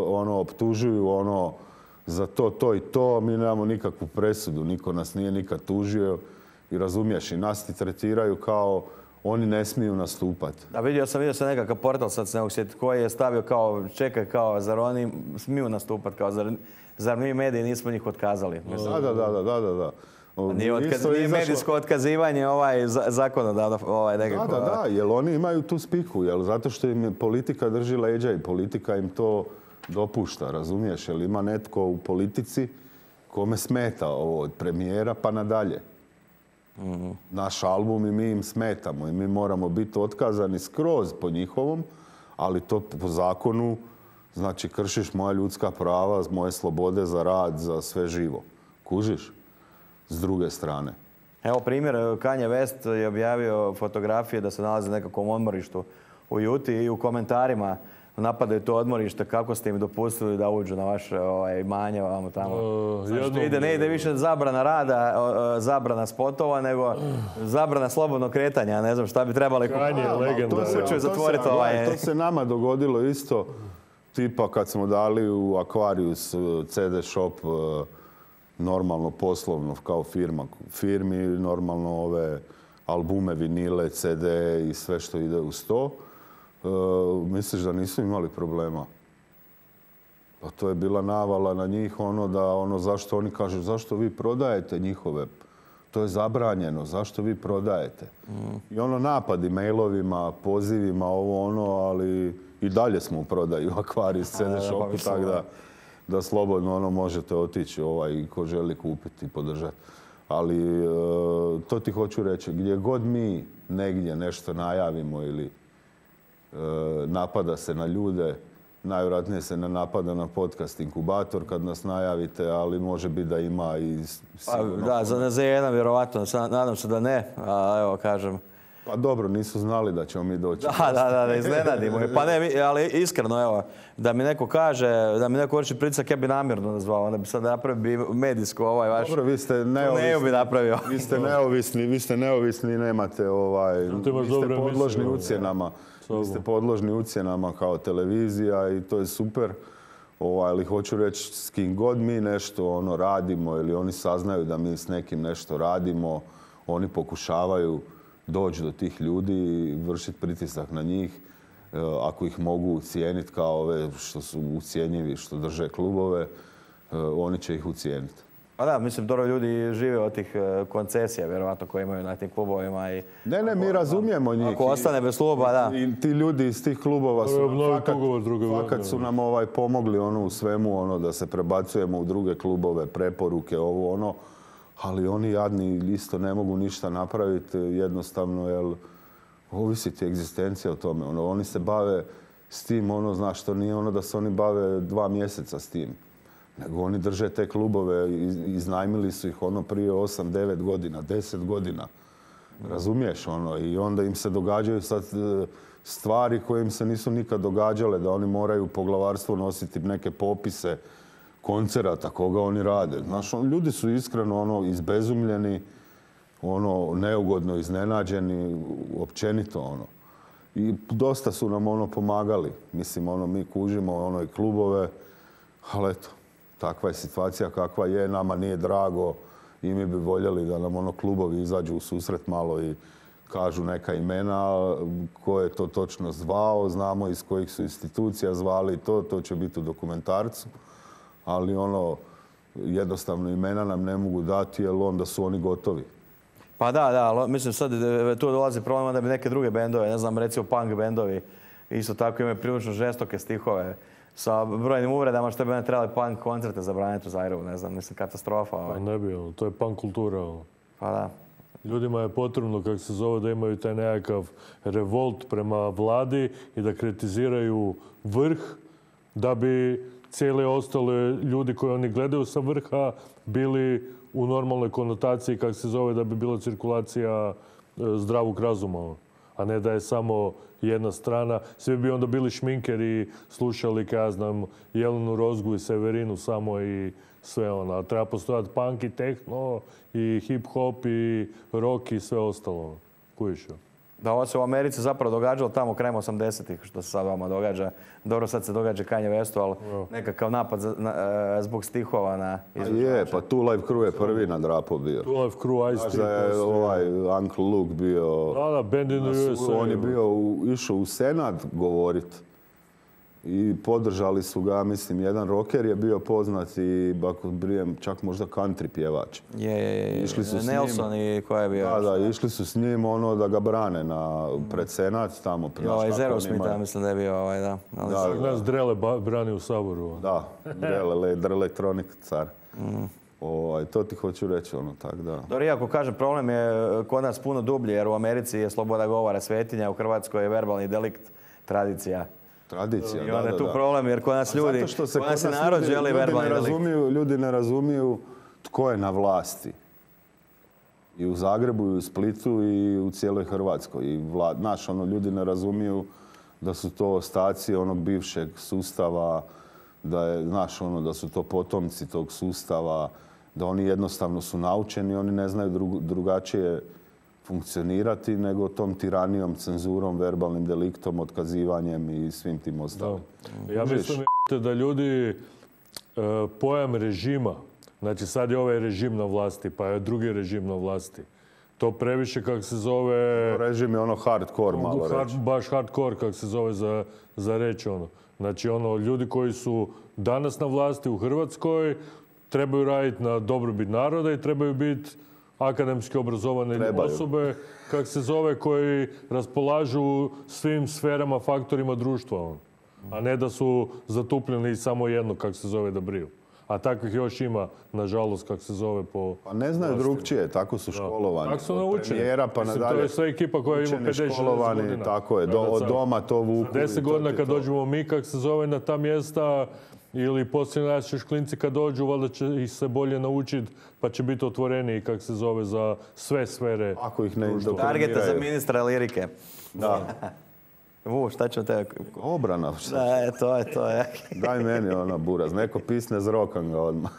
ono, optužuju ono, za to, to i to. Mi nemamo nikakvu presudu. Niko nas nije nikad tužio. I razumiješ, i nas ti tretiraju kao oni ne smiju nastupati. Da, vidio sam, vidio sam nekakav portal, sad se ne mogu sjetiti, koji je stavio kao, čekaj, kao, zar oni smiju nastupati, kao, zar, zar mi mediji nismo njih otkazali? Da, da, da, da, da, da. Nije, otkaz, nije izašlo... medijsko otkazivanje ovaj zakonodavno ovaj nekako... Da, da, da, jer oni imaju tu spiku, jer zato što im politika drži leđa i politika im to dopušta, razumiješ? Jer ima netko u politici kome smeta ovo od premijera pa nadalje. Mm-hmm. Naš album i mi im smetamo i mi moramo biti otkazani skroz po njihovom, ali to po zakonu znači kršiš moja ljudska prava, moje slobode za rad, za sve živo. Kužiš? S druge strane. Evo primjer, Kanye West je objavio fotografije da se nalaze u nekakvom odmorištu u Juti i u komentarima napadaju to odmorište, kako ste im dopustili da uđu na vaše ovaj, imanje vamo tamo. Uh, znači, ide, ne ide više zabrana rada, zabrana spotova, nego zabrana slobodnog kretanja. Ne znam šta bi trebali... Kanye je legenda. To se, to, se, ovaj... to se nama dogodilo isto, tipa kad smo dali u Aquarius ce de shop normalno poslovno kao firma, firmi, normalno ove albume, vinile, ce de i sve što ide uz to. E, misliš da nisu imali problema? Pa to je bila navala na njih, ono da, ono zašto oni kažu, zašto vi prodajete njihove? To je zabranjeno, zašto vi prodajete? Mm. I ono napadi mailovima, pozivima, ovo ono, ali i dalje smo u prodaju u Aquarius ce de shopu, pa tako da... da slobodno ono možete otići ovaj, ko želi kupiti i podržati. Ali e, to ti hoću reći, gdje god mi negdje nešto najavimo ili e, napada se na ljude, Najvjerojatnije se ne napada na podcast inkubator kad nas najavite, ali može biti da ima i... Pa, da, za Z jedan vjerovatno, nadam se da ne, a evo kažem. Pa dobro, nisu znali da ćemo mi doći. Da, da, da, da iznenadimo. Pa ne, ali iskreno, evo, da mi neko kaže, da mi neko vrši pritisak, ja bi namjerno nazvao, onda bi sad napravio medijsko ovaj vaš... Dobro, vi ste neovisni. bi napravio. Vi ste neovisni, vi ste neovisni i nemate ovaj... Vi ste podložni ucjenama. Vi ste podložni ucjenama kao televizija i to je super. Ovaj, ali hoću reći, s kim god mi nešto ono radimo ili oni saznaju da mi s nekim nešto radimo, oni pokušavaju doći do tih ljudi i vršiti pritisak na njih. Ako ih mogu ucijeniti kao ove što su ucijenjivi, što drže klubove, oni će ih ucijeniti. Pa da, mislim, dobro ljudi žive od tih koncesija, vjerovatno, koje imaju na tim klubovima. I ne, ne, mi razumijemo njih. Ako ostane bez kluba, da. I ti ljudi iz tih klubova su nam fakat, fakat su nam ovaj pomogli ono u svemu, ono da se prebacujemo u druge klubove, preporuke, ovo ono. Ali oni jadni isto ne mogu ništa napraviti jednostavno, jer ovisi ti egzistencija o tome. Ono, oni se bave s tim, ono, znaš, to nije ono da se oni bave dva mjeseca s tim. Nego oni drže te klubove, iznajmili su ih ono prije osam, devet godina, deset godina. Razumiješ ono? I onda im se događaju sad stvari koje im se nisu nikad događale, da oni moraju poglavarstvo nositi neke popise koncerata, koga oni rade. Znaš, on, ljudi su iskreno ono, izbezumljeni, ono, neugodno iznenađeni, općenito ono. I dosta su nam ono pomagali. Mislim, ono, mi kužimo ono i klubove, ali eto, takva je situacija kakva je, nama nije drago i mi bi voljeli da nam ono klubovi izađu u susret malo i kažu neka imena, ko je to točno zvao, znamo iz kojih su institucija zvali to, to će biti u dokumentarcu. Ali ono, jednostavno imena nam ne mogu dati jer onda su oni gotovi. Pa da, da, mislim sad tu dolazi problem da bi neke druge bendove, ne znam, recimo punk bendovi, isto tako imaju prilično žestoke stihove sa brojnim uvredama što bi ne trebali punk koncerte zabraniti u Zagrebu, ne znam, mislim, katastrofa. Pa ne bi, to je punk kultura. Pa da. Ljudima je potrebno, kako se zove, da imaju taj nekakav revolt prema vladi i da kritiziraju vrh, da bi cijeli ostale ljudi koji oni gledaju sa vrha bili u normalnoj konotaciji, kako se zove, da bi bila cirkulacija zdravog razuma, a ne da je samo jedna strana. Svi bi onda bili šminkeri, slušali, kaj ja znam, Jelenu Rozgu i Severinu samo i sve ono. A treba postojati punk i techno i hip-hop i rock i sve ostalo. Kujiš? Da, ovo se u Americi zapravo događalo tamo krajem osamdesetih, što se sad vama događa. Dobro, sad se događa Kanye Westu, ali nekakav napad za, na, zbog stihova na izvođača. Je, pa Two Live Crew je prvi na drapo bio. Two Live Crew, Ice T. je ovaj Uncle Luke bio... Da, da, Band in the U S A. On je bio u, išao u Senat govoriti. I podržali su ga, mislim, jedan rocker je bio poznat i ako brijem, čak možda country pjevač. Je, je, je. Išli su Nelson i ko je bio? Da, da, išli su s njim ono da ga brane na, pred Senat tamo. I ovaj Zerosmita, mislim da je bio ovaj, da. Da, nas Drele brani u Saboru. Da, Drele, Drelektronik car. Mm. O, to ti hoću reći, ono, tak da. Dobro, iako kažem, problem je kod nas puno dublji, jer u Americi je sloboda govora svetinja, u Hrvatskoj je verbalni delikt tradicija. Tradicija, i onda je tu problem, jer kod nas ljudi, kod nas je narod želi verbalni delikt. Ljudi ne razumiju tko je na vlasti. I u Zagrebu, i u Splitu, i u cijeloj Hrvatskoj. I vlad, znaš, ono, ljudi ne razumiju da su to ostaci onog bivšeg sustava, da je, znaš, ono, da su to potomci tog sustava, da oni jednostavno su naučeni, oni ne znaju dru, drugačije funkcionirati nego tom tiranijom, cenzurom, verbalnim deliktom, otkazivanjem i svim tim ostalim. Da. Ja mislim da ljudi pojam režima, znači sad je ovaj režim na vlasti, pa je drugi režim na vlasti. To previše, kako se zove... Režim je ono hardcore, malo hard, reći. Baš hardcore, kako se zove za, za reći ono. Znači ono, ljudi koji su danas na vlasti u Hrvatskoj trebaju raditi na dobrobit naroda i trebaju biti akademski obrazovane trebaju. Osobe, kako se zove, koji raspolažu svim sferama, faktorima društva. On. A ne da su zatupljeni samo jedno, kako se zove, da briju. A takvih još ima, nažalost, kako se zove po... Pa ne znaju drugčije, tako su školovani. Tako su naučeni. Premijera pa nadalje. To je sve ekipa koja ima pedeset šezdeset godina. Tako je, do, od doma to vuku. deset godina kad dođemo mi, kako se zove, na ta mjesta, ili poslije naši klinci kad dođu, valjda će ih se bolje naučiti, pa će biti otvoreniji, kako se zove, za sve sfere. Ako ih ne indokriniraju. Targeta za ministra lirike. Da. U, šta će te... Obrana. Da, je, to je, to je. Daj meni ona buraz, neko pisne zrokam ga odmah.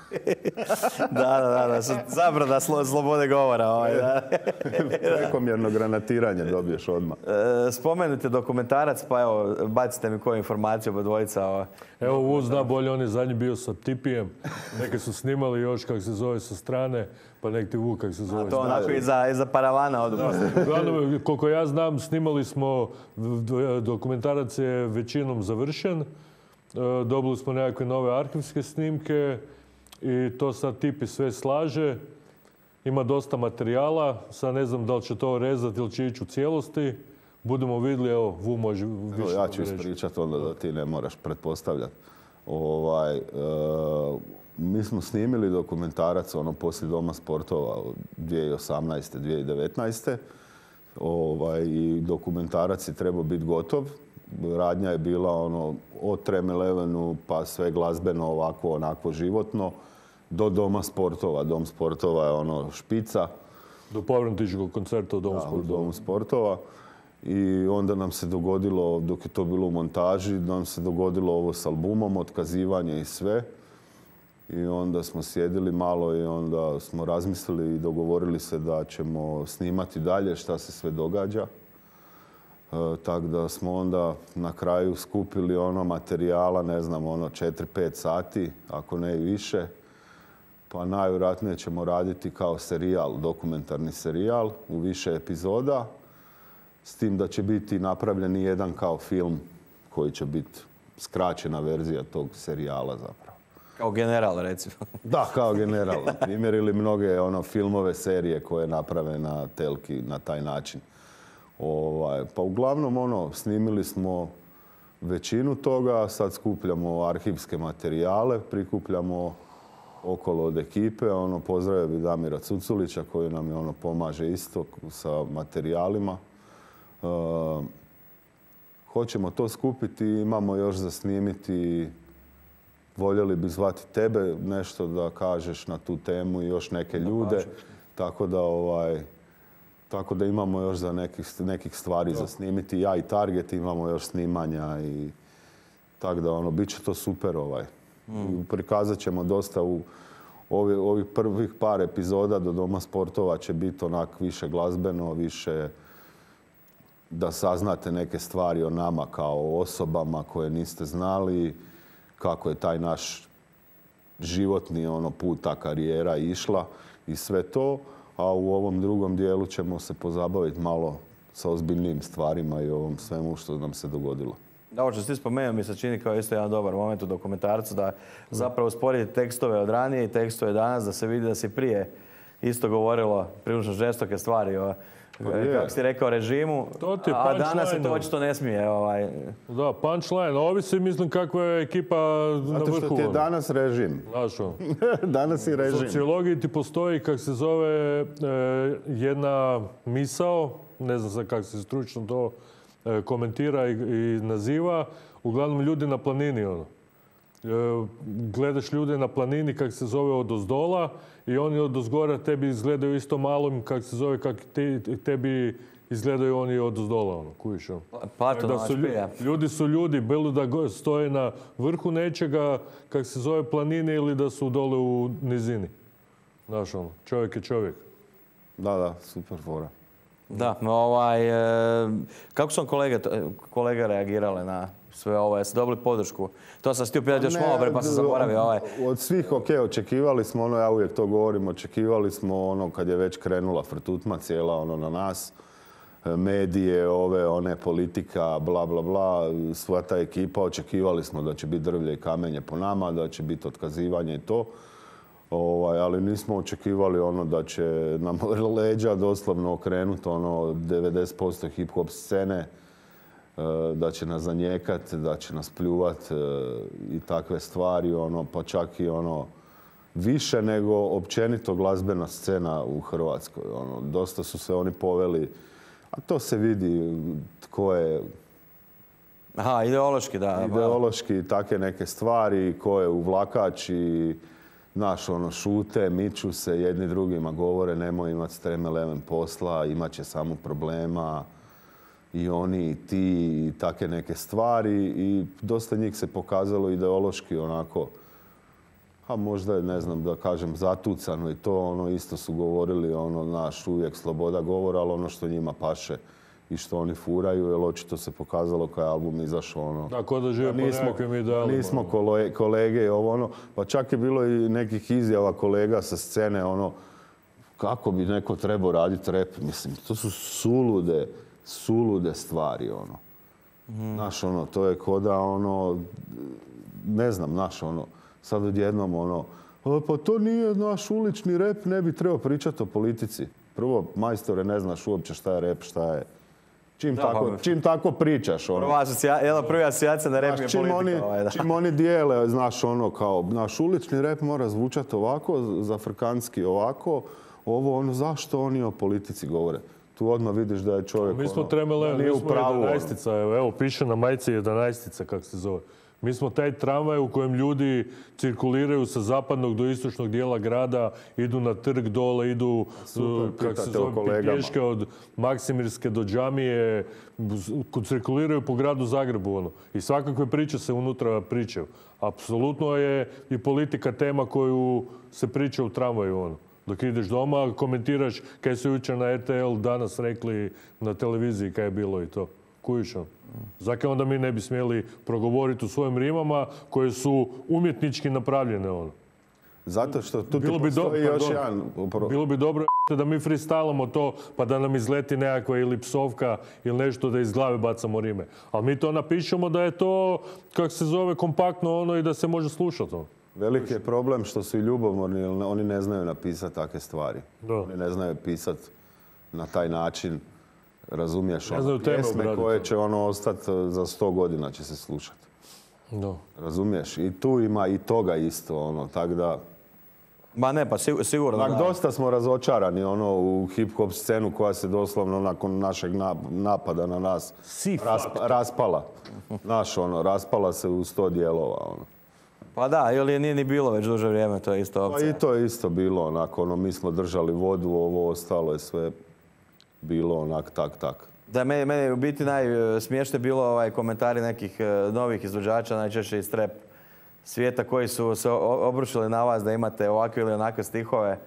da, da, da, zabrana slo, slobode govora. Ovaj, da. Prekomjerno granatiranje dobiješ odmah. E, spomenute dokumentarac, pa evo, bacite mi koju informaciju od dvojica. Ovo. Evo, Vu zna bolje, on je zadnji bio sa Tipijem. Neke su snimali još, kako se zove, sa strane, pa nek ti Vu, kako se zove. A to onako iza, iza paravana od Uglavnom, koliko ja znam, snimali smo, dokumentarac je većinom završen. Dobili smo nekakve nove arhivske snimke i to sad Tipi sve slaže. Ima dosta materijala, sad ne znam da li će to rezati ili će ići u cijelosti. Budemo vidjeli, evo, Vu može više reći. Ja ću ispričati onda da ti ne moraš pretpostavljati. Ovaj, e, mi smo snimili dokumentarac ono poslije Doma sportova dvije tisuće osamnaeste. dvije tisuće devetnaeste. Ovaj, i dokumentarac je trebao biti gotov. Radnja je bila ono od Trem Elevenu pa sve glazbeno, ovako, onako životno, do Doma sportova. Dom sportova je ono špica. Do povratničkog koncerta u Domu sportova. U Domu sportova. I onda nam se dogodilo, dok je to bilo u montaži, nam se dogodilo ovo s albumom, otkazivanje i sve. I onda smo sjedili malo i onda smo razmislili i dogovorili se da ćemo snimati dalje šta se sve događa. E, tako da smo onda na kraju skupili ono materijala, ne znam, ono četiri pet sati, ako ne i više. Pa najvjerojatnije ćemo raditi kao serijal, dokumentarni serijal u više epizoda. S tim da će biti napravljen i jedan kao film koji će biti skraćena verzija tog serijala zapravo. Kao general, recimo. Da, kao general. Primjer ili mnoge ono, filmove, serije koje naprave na telki na taj način. Ovaj, pa uglavnom ono, snimili smo većinu toga, sad skupljamo arhivske materijale, prikupljamo okolo od ekipe. Ono, pozdravio bi Damira Cuculića koji nam je ono, pomaže isto sa materijalima. Uh, hoćemo to skupiti, imamo još za snimiti, voljeli bi zvati tebe nešto da kažeš na tu temu i još neke ljude, tako da, ovaj, tako da imamo još za nekih, nekih stvari za snimiti. Ja i Target imamo još snimanja i tako da ono, bit će to super. Ovaj. Mm. Prikazat ćemo dosta u ovi, ovih prvih par epizoda do Doma sportova će biti onak više glazbeno, više da saznate neke stvari o nama kao osobama koje niste znali, kako je taj naš životni ono, put, ta karijera išla i sve to. A u ovom drugom dijelu ćemo se pozabaviti malo sa ozbiljnim stvarima i ovom svemu što nam se dogodilo. Da, ovo što si spomenuo mi se čini kao isto jedan dobar moment u dokumentarcu da zapravo usporedite tekstove od ranije i tekstove danas, da se vidi da se prije isto govorilo prilično žestoke stvari o, kako si rekao, režimu, a danas se to očito ne smije. Ovaj. Da, punchline. Ovisi, mislim, kakva je ekipa na vrhu. Zato što ti je danas režim. Znaš on. Danas je režim. U sociologiji ti postoji, kako se zove, jedna misao, ne znam sad kako se stručno to komentira i, i naziva, uglavnom ljudi na planini. Ono. Gledaš ljude na planini, kako se zove, od ozdola i oni od ozgora tebi izgledaju isto malom, kako se zove, kako te, tebi izgledaju oni od ozdola. Ono, kuviš, ono. Da su, ljudi su ljudi, bilo da stoje na vrhu nečega, kako se zove, planine ili da su dole u nizini. Znaš, ono, čovjek je čovjek. Da, da, super fora. Da, ovaj, kako su kolege, kolege reagirale na sve ovo? Jeste dobili podršku? To sam htio pitati još malo pre, pa sam zaboravio. Ovaj. Od svih, ok, očekivali smo, ono, ja uvijek to govorim, očekivali smo ono kad je već krenula frtutma cijela ono na nas, medije, ove, one, politika, bla, bla, bla, sva ta ekipa, očekivali smo da će biti drvlje i kamenje po nama, da će biti otkazivanje i to. Ovaj, ali nismo očekivali ono da će nam leđa doslovno okrenuti ono devedeset posto hip-hop scene, da će nas zanijekati, da će nas pljuvati i takve stvari, ono, pa čak i ono više nego općenito glazbena scena u Hrvatskoj. Ono, dosta su se oni poveli, a to se vidi tko je... Aha, ideološki, da. Ideološki, take neke stvari, ko je uvlakač i, znaš, ono, šute, miču se, jedni drugima govore, nemoj imati streme leven posla, imat će samo problema. I oni i ti i take neke stvari i dosta njih se pokazalo ideološki onako, a možda je, ne znam da kažem, zatucano i to, ono, isto su govorili, ono, naš uvijek sloboda govora, ali ono što njima paše i što oni furaju, jer očito se pokazalo kad je album izašao, ono... Da, ko da žive po nekakvim idealima. Nismo kolege i ovo, ono, pa čak je bilo i nekih izjava kolega sa scene, ono, kako bi neko trebao raditi rap, mislim, to su sulude, sulude stvari, ono. Mm. Znaš, ono, to je ko da, ono, ne znam, znaš, ono, sad odjednom, ono, pa to nije naš ulični rap, ne bi trebao pričati o politici. Prvo, majstore, ne znaš uopće šta je rap, šta je... Čim, da, tako, čim tako pričaš, ono... Prva asocijacija, jedna prva asocijacija na rap je politika. Oni, ovaj, da. Čim oni dijele, znaš, ono, kao, naš ulični rap mora zvučati ovako, zafrkanski ovako, ovo, ono, zašto oni o politici govore? Tu odmah vidiš da je čovjek, mi smo ono, tremele, nije u pravu. jedanaestica, evo, evo, piše na majici jedanaestica, kako se zove. Mi smo taj tramvaj u kojem ljudi cirkuliraju sa zapadnog do istočnog dijela grada, idu na trg dole, idu kako se zove, pješke od Maksimirske do Džamije, cirkuliraju po gradu Zagrebu. Ono. I svakakve priče se unutra pričaju. Apsolutno je i politika tema koju se priča u tramvaju. Ono. Dok ideš doma, komentiraš kaj su jučer na R T L danas rekli na televiziji kaj je bilo i to. Kujiš on? Zakaj onda mi ne bi smjeli progovoriti u svojim rimama koje su umjetnički napravljene ono? Zato što tu bilo ti bi postoji do, još pardon, jedan... Bilo bi dobro da mi freestylamo to pa da nam izleti nekakva ili psovka ili nešto da iz glave bacamo rime. Ali mi to napišemo da je to, kako se zove, kompaktno ono i da se može slušati ono. Veliki je problem što su i ljubomorni, jer oni ne znaju napisati takve stvari. Da. Oni ne znaju pisati na taj način. Razumiješ, ono, pjesme koje će ono ostati za sto godina će se slušati. No. Razumiješ? I tu ima i toga isto, ono, tak da... Ma ne, pa sigurno da. Dosta smo razočarani, ono, u hip-hop scenu koja se doslovno nakon našeg napada na nas rasp, raspala. Znaš, ono, raspala se u sto dijelova, ono. Pa da, ili nije ni bilo već duže vrijeme, to je isto opcija. Pa i to je isto bilo, onako, ono, mi smo držali vodu, ovo ostalo je sve... bilo onak, tak, tak. Da, meni, meni u biti najsmiješnije bilo ovaj komentari nekih novih izvođača, najčešće iz trap svijeta koji su se obrušili na vas da imate ovakve ili onakve stihove.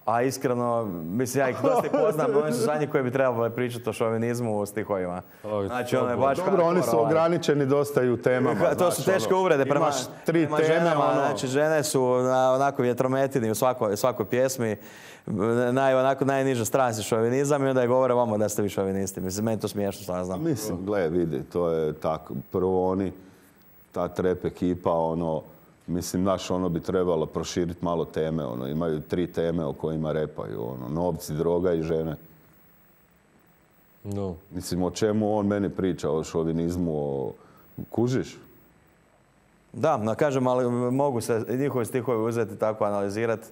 A iskreno, mislim, ja ih dosta poznam, oni su zadnji koji bi trebali pričati o šovinizmu u stihovima. Znači, ono je baš... Dobro, oni su ograničeni dosta i u temama. To su teške uvrede prema, prema ženama. Ono... Znači, žene su na onako vjetrometini u svakoj, svakoj pjesmi. Naj, onako najniža strast je šovinizam i onda je govore vama da ste vi šovinisti. Mislim, meni to smiješno, što ja znam. Mislim, gle, vidi, to je tako. Prvo oni, ta trap ekipa, ono... Mislim, naš ono bi trebalo proširiti malo teme, ono, imaju tri teme o kojima repaju, ono, novci, droga i žene. No. Mislim, o čemu on meni priča, o šovinizmu, o... Kužiš? Da, no, kažem, ali mogu se njihovi stihovi uzeti tako analizirati.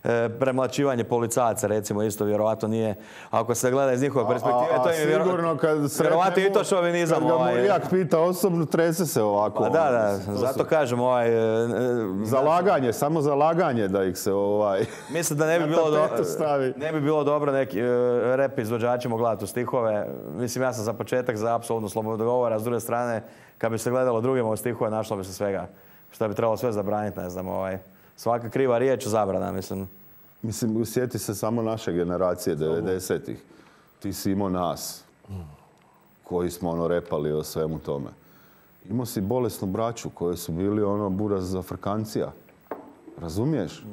E, premlačivanje policajaca, recimo, isto vjerovatno nije, ako se gleda iz njihove perspektive, a, a, to je vjerovatno, vjerovatno i to šovinizam. Kad ga ovaj, Murijak pita osobno, trese se ovako. Pa da, da, zato kažem, ovaj... Zalaganje, samo zalaganje da ih se ovaj... Mislim da ne bi bilo, do, ne bi bilo dobro neki uh, rap izvođačima gledati u stihove. Mislim, ja sam za početak za apsolutno slobodu govora, a s druge strane, kad bi se gledalo drugima u stihove, našlo bi se svega. Što bi trebalo sve zabraniti, ne znam, ovaj... Svaka kriva riječ zabrana, mislim. Mislim, sjeti se samo naše generacije, devedesetih. Ti si imao nas, koji smo ono repali o svemu tome. Imao si bolesnu braću, koji su bili ono buraz za frkancija. Razumiješ?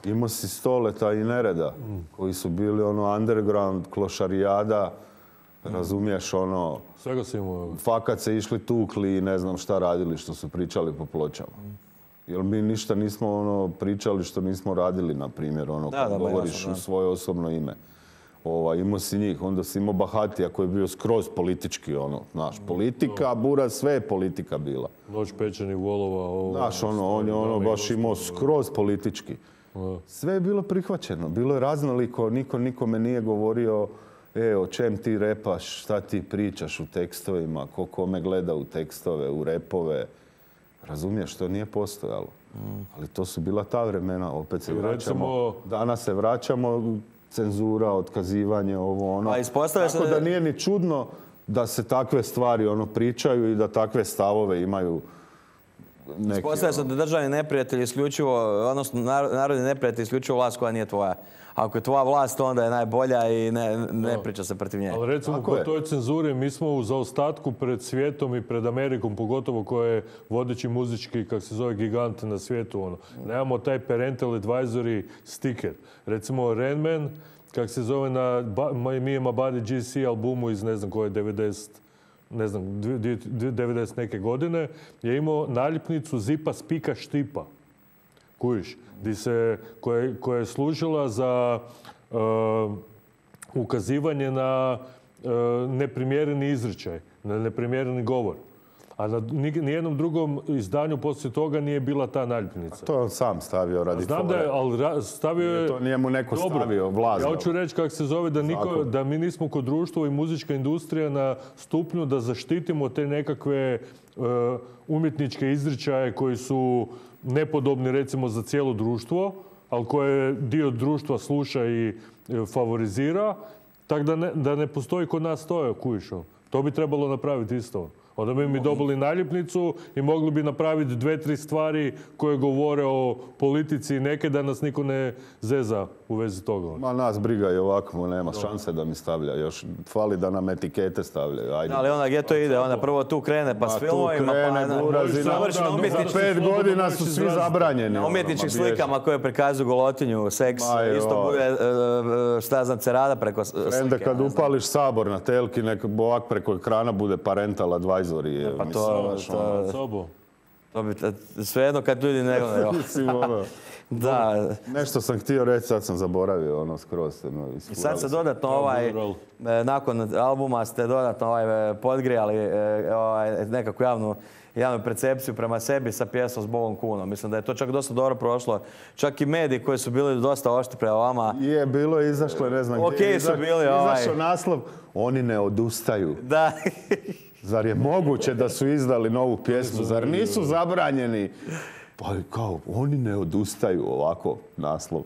Imao si Stoleta i Nereda, koji su bili ono underground, klošarijada. Razumiješ, ono... Svega si imao. Fakat se išli tukli i ne znam šta radili, što su pričali po pločama. Jer mi ništa nismo ono pričali što nismo radili, na primjer, ono, da, kad da, govoriš jasno, u svoje osobno ime. Ovaj, imao si njih, onda si imao Bahatija koji je bio skroz politički, ono, znaš, politika, Buraz, sve je politika bila. Noć pečenih volova. Ovo, znaš, ono, on je ono baš imao skroz politički. Sve je bilo prihvaćeno, bilo je raznoliko, niko nikome nije govorio e, o čem ti repaš, šta ti pričaš u tekstovima, ko kome gleda u tekstove, u repove. Razumiješ, to nije postojalo. Ali to su bila ta vremena, opet se vraćamo. Danas se vraćamo, cenzura, otkazivanje, ovo ono. Tako da nije ni čudno da se takve stvari ono pričaju i da takve stavove imaju neki... Ispostavlja se da državni neprijatelj isključivo, odnosno narodni neprijatelj isključivo vlast koja nije tvoja. Ako je tvoja vlast, onda je najbolja i ne, ne priča se protiv nje. Ali recimo kod toj cenzuri mi smo u zaostatku pred svijetom i pred Amerikom, pogotovo koja je vodeći muzički, kako se zove, gigant na svijetu. Ono. Nemamo taj parental advisory sticker. Recimo Rain Man, kako se zove na Me and My Buddy G C albumu iz ne znam koje devedeset, ne znam, devedeset neke godine, je imao naljepnicu Zipa Spika Štipa. Kužiš? Se, koja, koja je služila za uh, ukazivanje na uh, neprimjereni izričaj, na neprimjereni govor. A na nijednom drugom izdanju poslije toga nije bila ta naljepnica. A to je on sam stavio radi Znam da je, ali stavio je... To nije mu neko dobro stavio, vlazno. Ja hoću reći kako se zove da, niko, da mi nismo kod društva i muzička industrija na stupnju da zaštitimo te nekakve uh, umjetničke izričaje koji su nepodobni recimo za cijelo društvo, ali koje dio društva sluša i favorizira, tako da ne, da ne postoji kod nas to, kujišo. To bi trebalo napraviti isto. Onda bi mi dobili naljepnicu i mogli bi napraviti dve, tri stvari koje govore o politici neke da nas niko ne zeza u vezi toga. Ma nas briga i ovako, nema šanse da mi stavlja. Još fali da nam etikete stavljaju. Ajde. Ali onda gdje to ide? Onda prvo tu krene pa s filmovima, pa završi na umjetničkim pet godina su svi zabranjeni. Na umjetničkim slikama koje prikazuju golotinju, seks, isto bude šta znam cerada preko slike. Onda kad upališ Sabor na telki, nek ovak preko ekrana bude parental advisory. Pa to, to, to bi svejedno kad ljudi ne gledaju. Da. Nešto sam htio reći, sad sam zaboravio ono skroz. I sad se dodatno ovaj, nakon albuma ste dodatno ovaj, podgrijali ovaj, nekakvu javnu, javnu percepciju prema sebi sa pjesmom s Bogom Kunom. Mislim da je to čak dosta dobro prošlo. Čak i mediji koji su bili dosta oštri prema vama. Je, bilo je izašlo, ne znam okay, gdje. Su bili, ovaj... Izašao naslov, oni ne odustaju. Da. Zar je moguće da su izdali novu pjesmu? Zar nisu zabranjeni? Pa kao, oni ne odustaju, ovako naslov.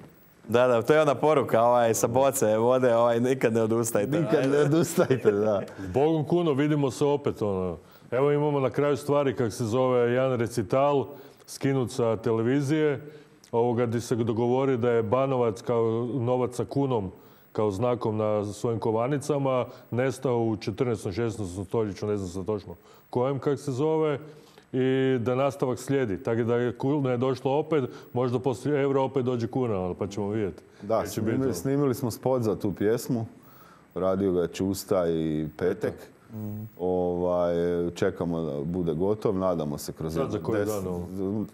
Da, da, to je ona poruka ovaj, sa boce vode, ovaj, nikad ne odustajte. Nikad ne odustajte, da. Bogom Kuno, vidimo se opet. Ono. Evo imamo na kraju stvari, kak se zove, jedan recital, skinut sa televizije, ovoga gdje se dogovori da je Banovac kao novac sa kunom, kao znakom na svojim kovanicama, nestao u četrnaestom šesnaestom stoljeću, ne znam se točno kojem kak se zove, i da nastavak slijedi. Tako da je kuna je došlo opet, možda poslije eura opet dođe kuna, pa ćemo vidjeti. Da, snimili, snimili smo spot za tu pjesmu, radio ga je Čusta i Petek. Mm. Ovaj, čekamo da bude gotov, nadamo se kroz jedan des...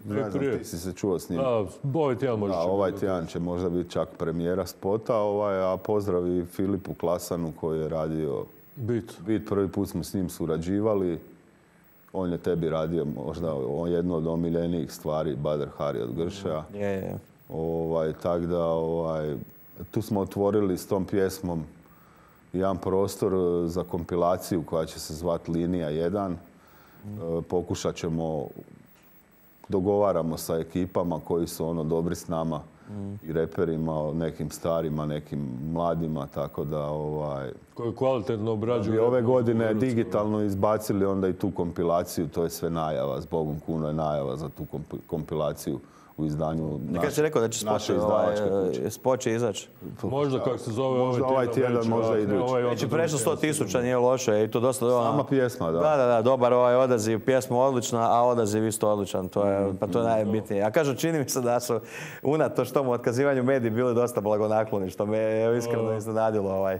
Ne znam, ti si se čuo s njim. A, ovaj tjedan može da, ovaj tjedan će možda biti čak premijera spota, ovaj, a pozdrav i Filipu Klasanu koji je radio Bit. Bit, prvi put smo s njim surađivali. On je tebi radio možda jedno od omiljenijih stvari, Badr Hari od Gršaja. Mm. Yeah, yeah. Ovaj, tak da, ovaj, tu smo otvorili s tom pjesmom jedan prostor za kompilaciju koja će se zvati Linija jedan. Mm. Pokušat ćemo, dogovaramo sa ekipama koji su ono dobri s nama mm. i reperima, nekim starima, nekim mladima, tako da ovaj... Koji kvalitetno obrađuju. Ove godine digitalno izbacili onda i tu kompilaciju, to je sve najava, zbogom Kuno je najava za tu kompilaciju u izdanju naše, si rekao da će naše izdavačke kuće. Spot će izaći. Možda kako se zove možda ovaj tjedan, već, možda idući. Ovaj već je prešlo sto tisuća, nije loše. I to dosta, sama pjesma, da. Da, da, da, dobar ovaj odaziv. Pjesma odlična, a odaziv isto odličan. To je, pa to je najbitnije. Ja kažem, čini mi se da su unatoč tomu otkazivanju mediji bili dosta blagonakloni, što me je iskreno iznenadilo. Ovaj.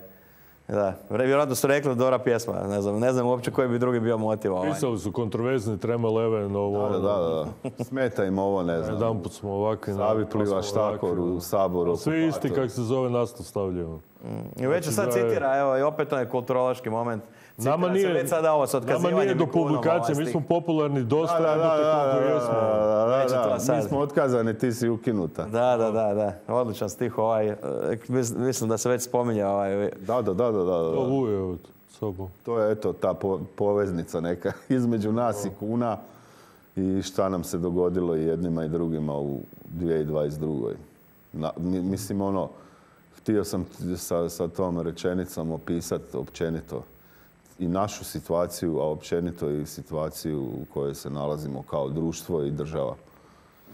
Da, vjerojatno su rekli dobra pjesma, ne znam, ne znam uopće koji bi drugi bio motiv. Ovaj. Pisali su kontroverzni Trema Leven, ovo... Da, da, da. Smeta im ovo, ne znam. Jedan put smo ovakvi... Savi pliva štakor u Saboru. Svi isti kak se zove nastav stavljaju. I već se sad citira, evo, i opet to je kulturološki moment. Citira nama nije, se već sada ovo s otkazivanjem. Nama nije do publikacije, mi smo popularni dosta, da, da, da, koliko jesmo. Da, da, da, mi smo otkazani, ti si ukinuta. Da, da, da, da. Odličan stih ovaj. Mislim da se već spominje ovaj. Da, da, da, da, da. To vuje od sobom. To je, eto, ta po, poveznica neka između nas i kuna i šta nam se dogodilo i jednima i drugima u dvije tisuće dvadeset drugoj. Na, mislim, ono, htio sam sa, sa tom rečenicom opisati općenito i našu situaciju, a općenito i situaciju u kojoj se nalazimo kao društvo i država.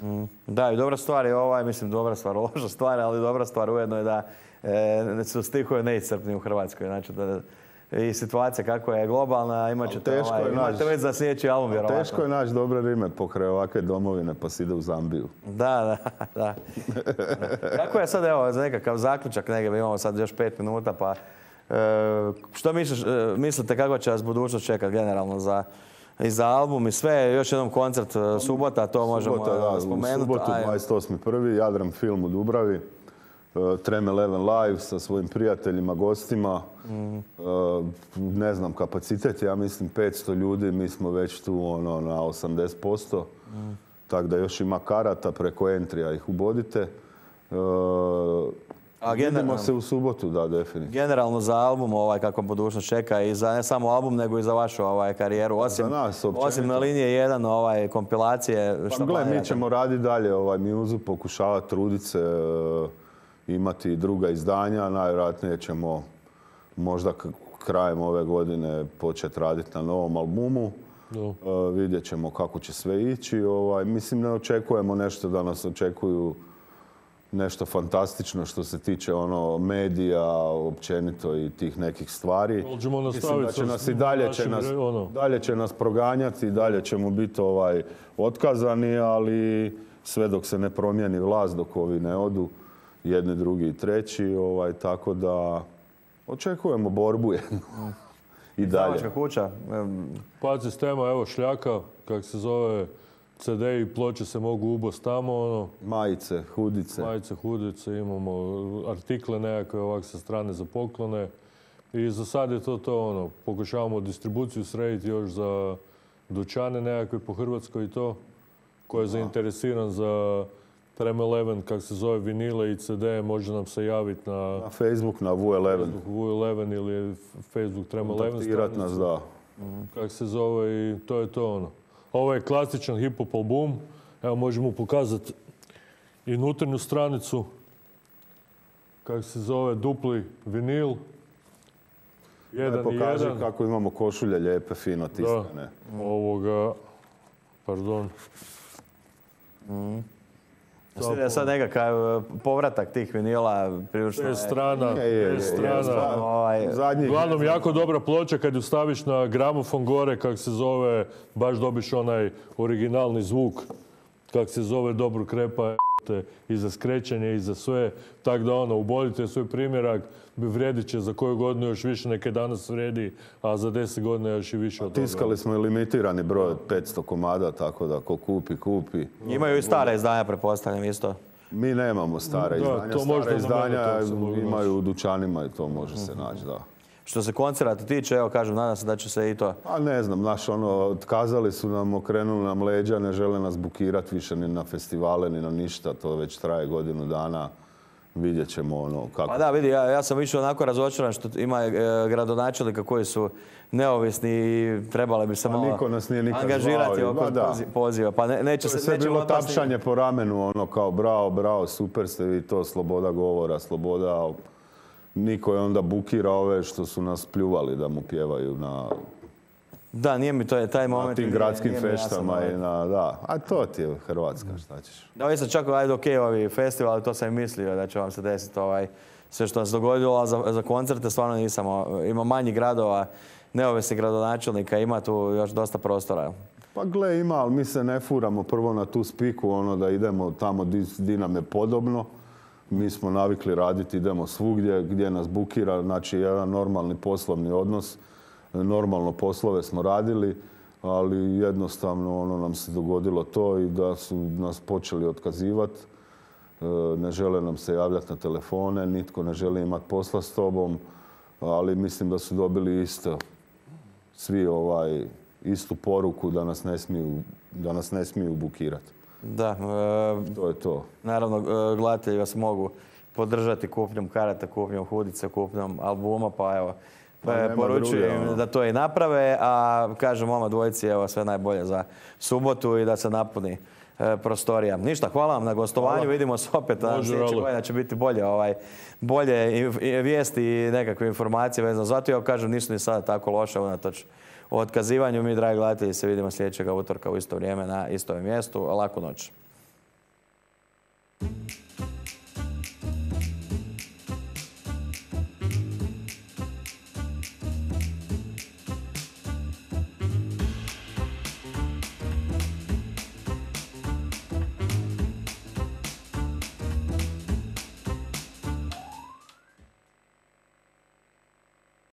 Mm. Da, i dobra stvar je ovaj, mislim, dobra stvar, loša stvar, ali dobra stvar ujedno je da e, su stihovi neiscrpni u Hrvatskoj. Znači, da, i situacija kako je globalna, imat ćete ovaj, imate već za sljedeći album, vjerovatno. Teško je naći dobre rime pokraj ovakve domovine, pa si ide u Zambiju. Da, da, da. Kako je sad, evo, za nekakav zaključak, negdje imamo sad još pet minuta, pa e, što misliš, e, mislite kako će vas budućnost čekati generalno za, i za album i sve? Još jednom koncert subota, to možemo subota, da, spomenuti. U subotu dvadeset osmi prvi Jadran film u Dubravi. Trem Eleven live sa svojim prijateljima, gostima. Mm. Ne znam, kapacitet, ja mislim petsto ljudi, mi smo već tu ono, na osamdeset posto. Mm. Tako da još ima karata, preko entrija ih ubodite. A vidimo se u subotu, da, definitivno. Generalno za album, ovaj, kako budućnost čeka, i za ne samo album, nego i za vašu ovaj, karijeru. Osim, za nas, osim na linije jedan ovaj, kompilacije. Pa gle, mi ćemo raditi dalje ovaj muzu, pokušavati truditi se, imati druga izdanja. Najvjerojatnije ćemo možda krajem ove godine početi raditi na novom albumu. Uh, vidjet ćemo kako će sve ići. Ovaj, mislim, ne očekujemo nešto da nas očekuju nešto fantastično što se tiče ono medija, općenito i tih nekih stvari. Mislim da će nas i dalje će nas, dalje će nas proganjati i dalje ćemo biti ovaj, otkazani, ali sve dok se ne promijeni vlast, dok ovi ne odu, jedni, drugi i treći, ovaj, tako da očekujemo borbu jednu. I dalje. Izdavačka kuća. Pad sistema, evo Šljaka, kak se zove, ce de i ploče se mogu ubost tamo, ono. Majice, hudice. Majice, hudice, imamo artikle nekakve ovak sa strane za poklone. I za sad je to to, ono, pokušavamo distribuciju srediti još za dućane nekakve po Hrvatskoj i to, ko je zainteresiran za Trem Eleven, kak se zove, vinile i ce de, može nam se javiti na... Na Facebook, na vu eleven. Facebook vu eleven ili Facebook Trem Eleven. Kontaktirat nas, da. Kak se zove i to je to, ono. Ovo je klasičan hip-hop album. Evo, možemo pokazati i unutarnju stranicu. Kak se zove, dupli vinil. Jedan i jedan. Pokaži kako imamo košulje lijepe, fino tiskane. Da, ovoga, pardon. Mm. Je sad nekakav povratak tih vinila prilično je... strana, je, je, je, strana. Ovaj, Uglavnom, jako dobra ploča kad ju staviš na gramofon gore, kak se zove, baš dobiš onaj originalni zvuk, kak se zove, dobro krepa i za skrećenje i za sve. Tako da ono, ubodite svoj primjerak, vrijedit će za koju godinu još više, neke danas vredi, a za deset godina još i više od toga. Tiskali smo i limitirani broj od petsto komada, tako da ko kupi, kupi. Imaju i stare izdanja, pretpostavljam isto. Mi nemamo stare da, izdanja. To stare izdanja imaju naći. U dućanima i to može se naći, da. Što se koncerata tiče, evo kažem, nadam se da će se i to... A ne znam, naš ono, otkazali su nam, okrenuli nam leđa, ne žele nas bukirati više ni na festivale, ni na ništa, to već traje godinu dana. Vidjet ćemo ono kako... Pa da, vidi, ja, ja sam više onako razočaran što ima e, gradonačelnika koji su neovisni i trebali bi se malo niko nas nije nikad angažirati zvao, oko da. poziva. Pa ne, neće to je se, sve neće bilo otpasti... tapšanje po ramenu, ono kao bravo, bravo, super ste vi to, sloboda govora, sloboda, ali niko je onda bukira ove što su nas pljuvali da mu pjevaju na... Da, nije mi to je taj moment. Na tim gradskim feštama i na, da. A to ti je Hrvatska, šta ćeš. Da, vi sam čak, ajde, okej, ovi festivali, to sam i mislio da će vam se desiti ovaj, sve što se dogodilo, a za, za koncerte stvarno nisam. Ima manji gradova, neovisnih gradonačelnika, ima tu još dosta prostora. Pa gle, ima, ali mi se ne furamo prvo na tu spiku, ono da idemo tamo di nam je podobno. Mi smo navikli raditi, idemo svugdje gdje nas bukira, znači jedan normalni poslovni odnos. Normalno poslove smo radili, ali jednostavno ono nam se dogodilo to i da su nas počeli otkazivati. ne žele nam se javljati na telefone, nitko ne želi imati posla s tobom, ali mislim da su dobili isto svi ovaj, istu poruku da nas ne smiju, da nas ne smiju bukirati. Da. E, to je to. Naravno, gledatelji vas mogu podržati kupnjom karata, kupnjom hudice, kupnjom albuma, pa evo, pa poručujem druge, da to i naprave, a kažem oma dvojici evo sve najbolje za subotu i da se napuni e, prostorija. Ništa, hvala vam na gostovanju, hvala. Vidimo se opet, na sljedeće godine će biti bolje, ovaj, bolje vijesti i nekakve informacije vezano za to. Ja kažem, nisu ni sada tako loše unatoč otkazivanju. Mi, dragi gledatelji, se vidimo sljedećega utorka u isto vrijeme na istom mjestu. Laku noć.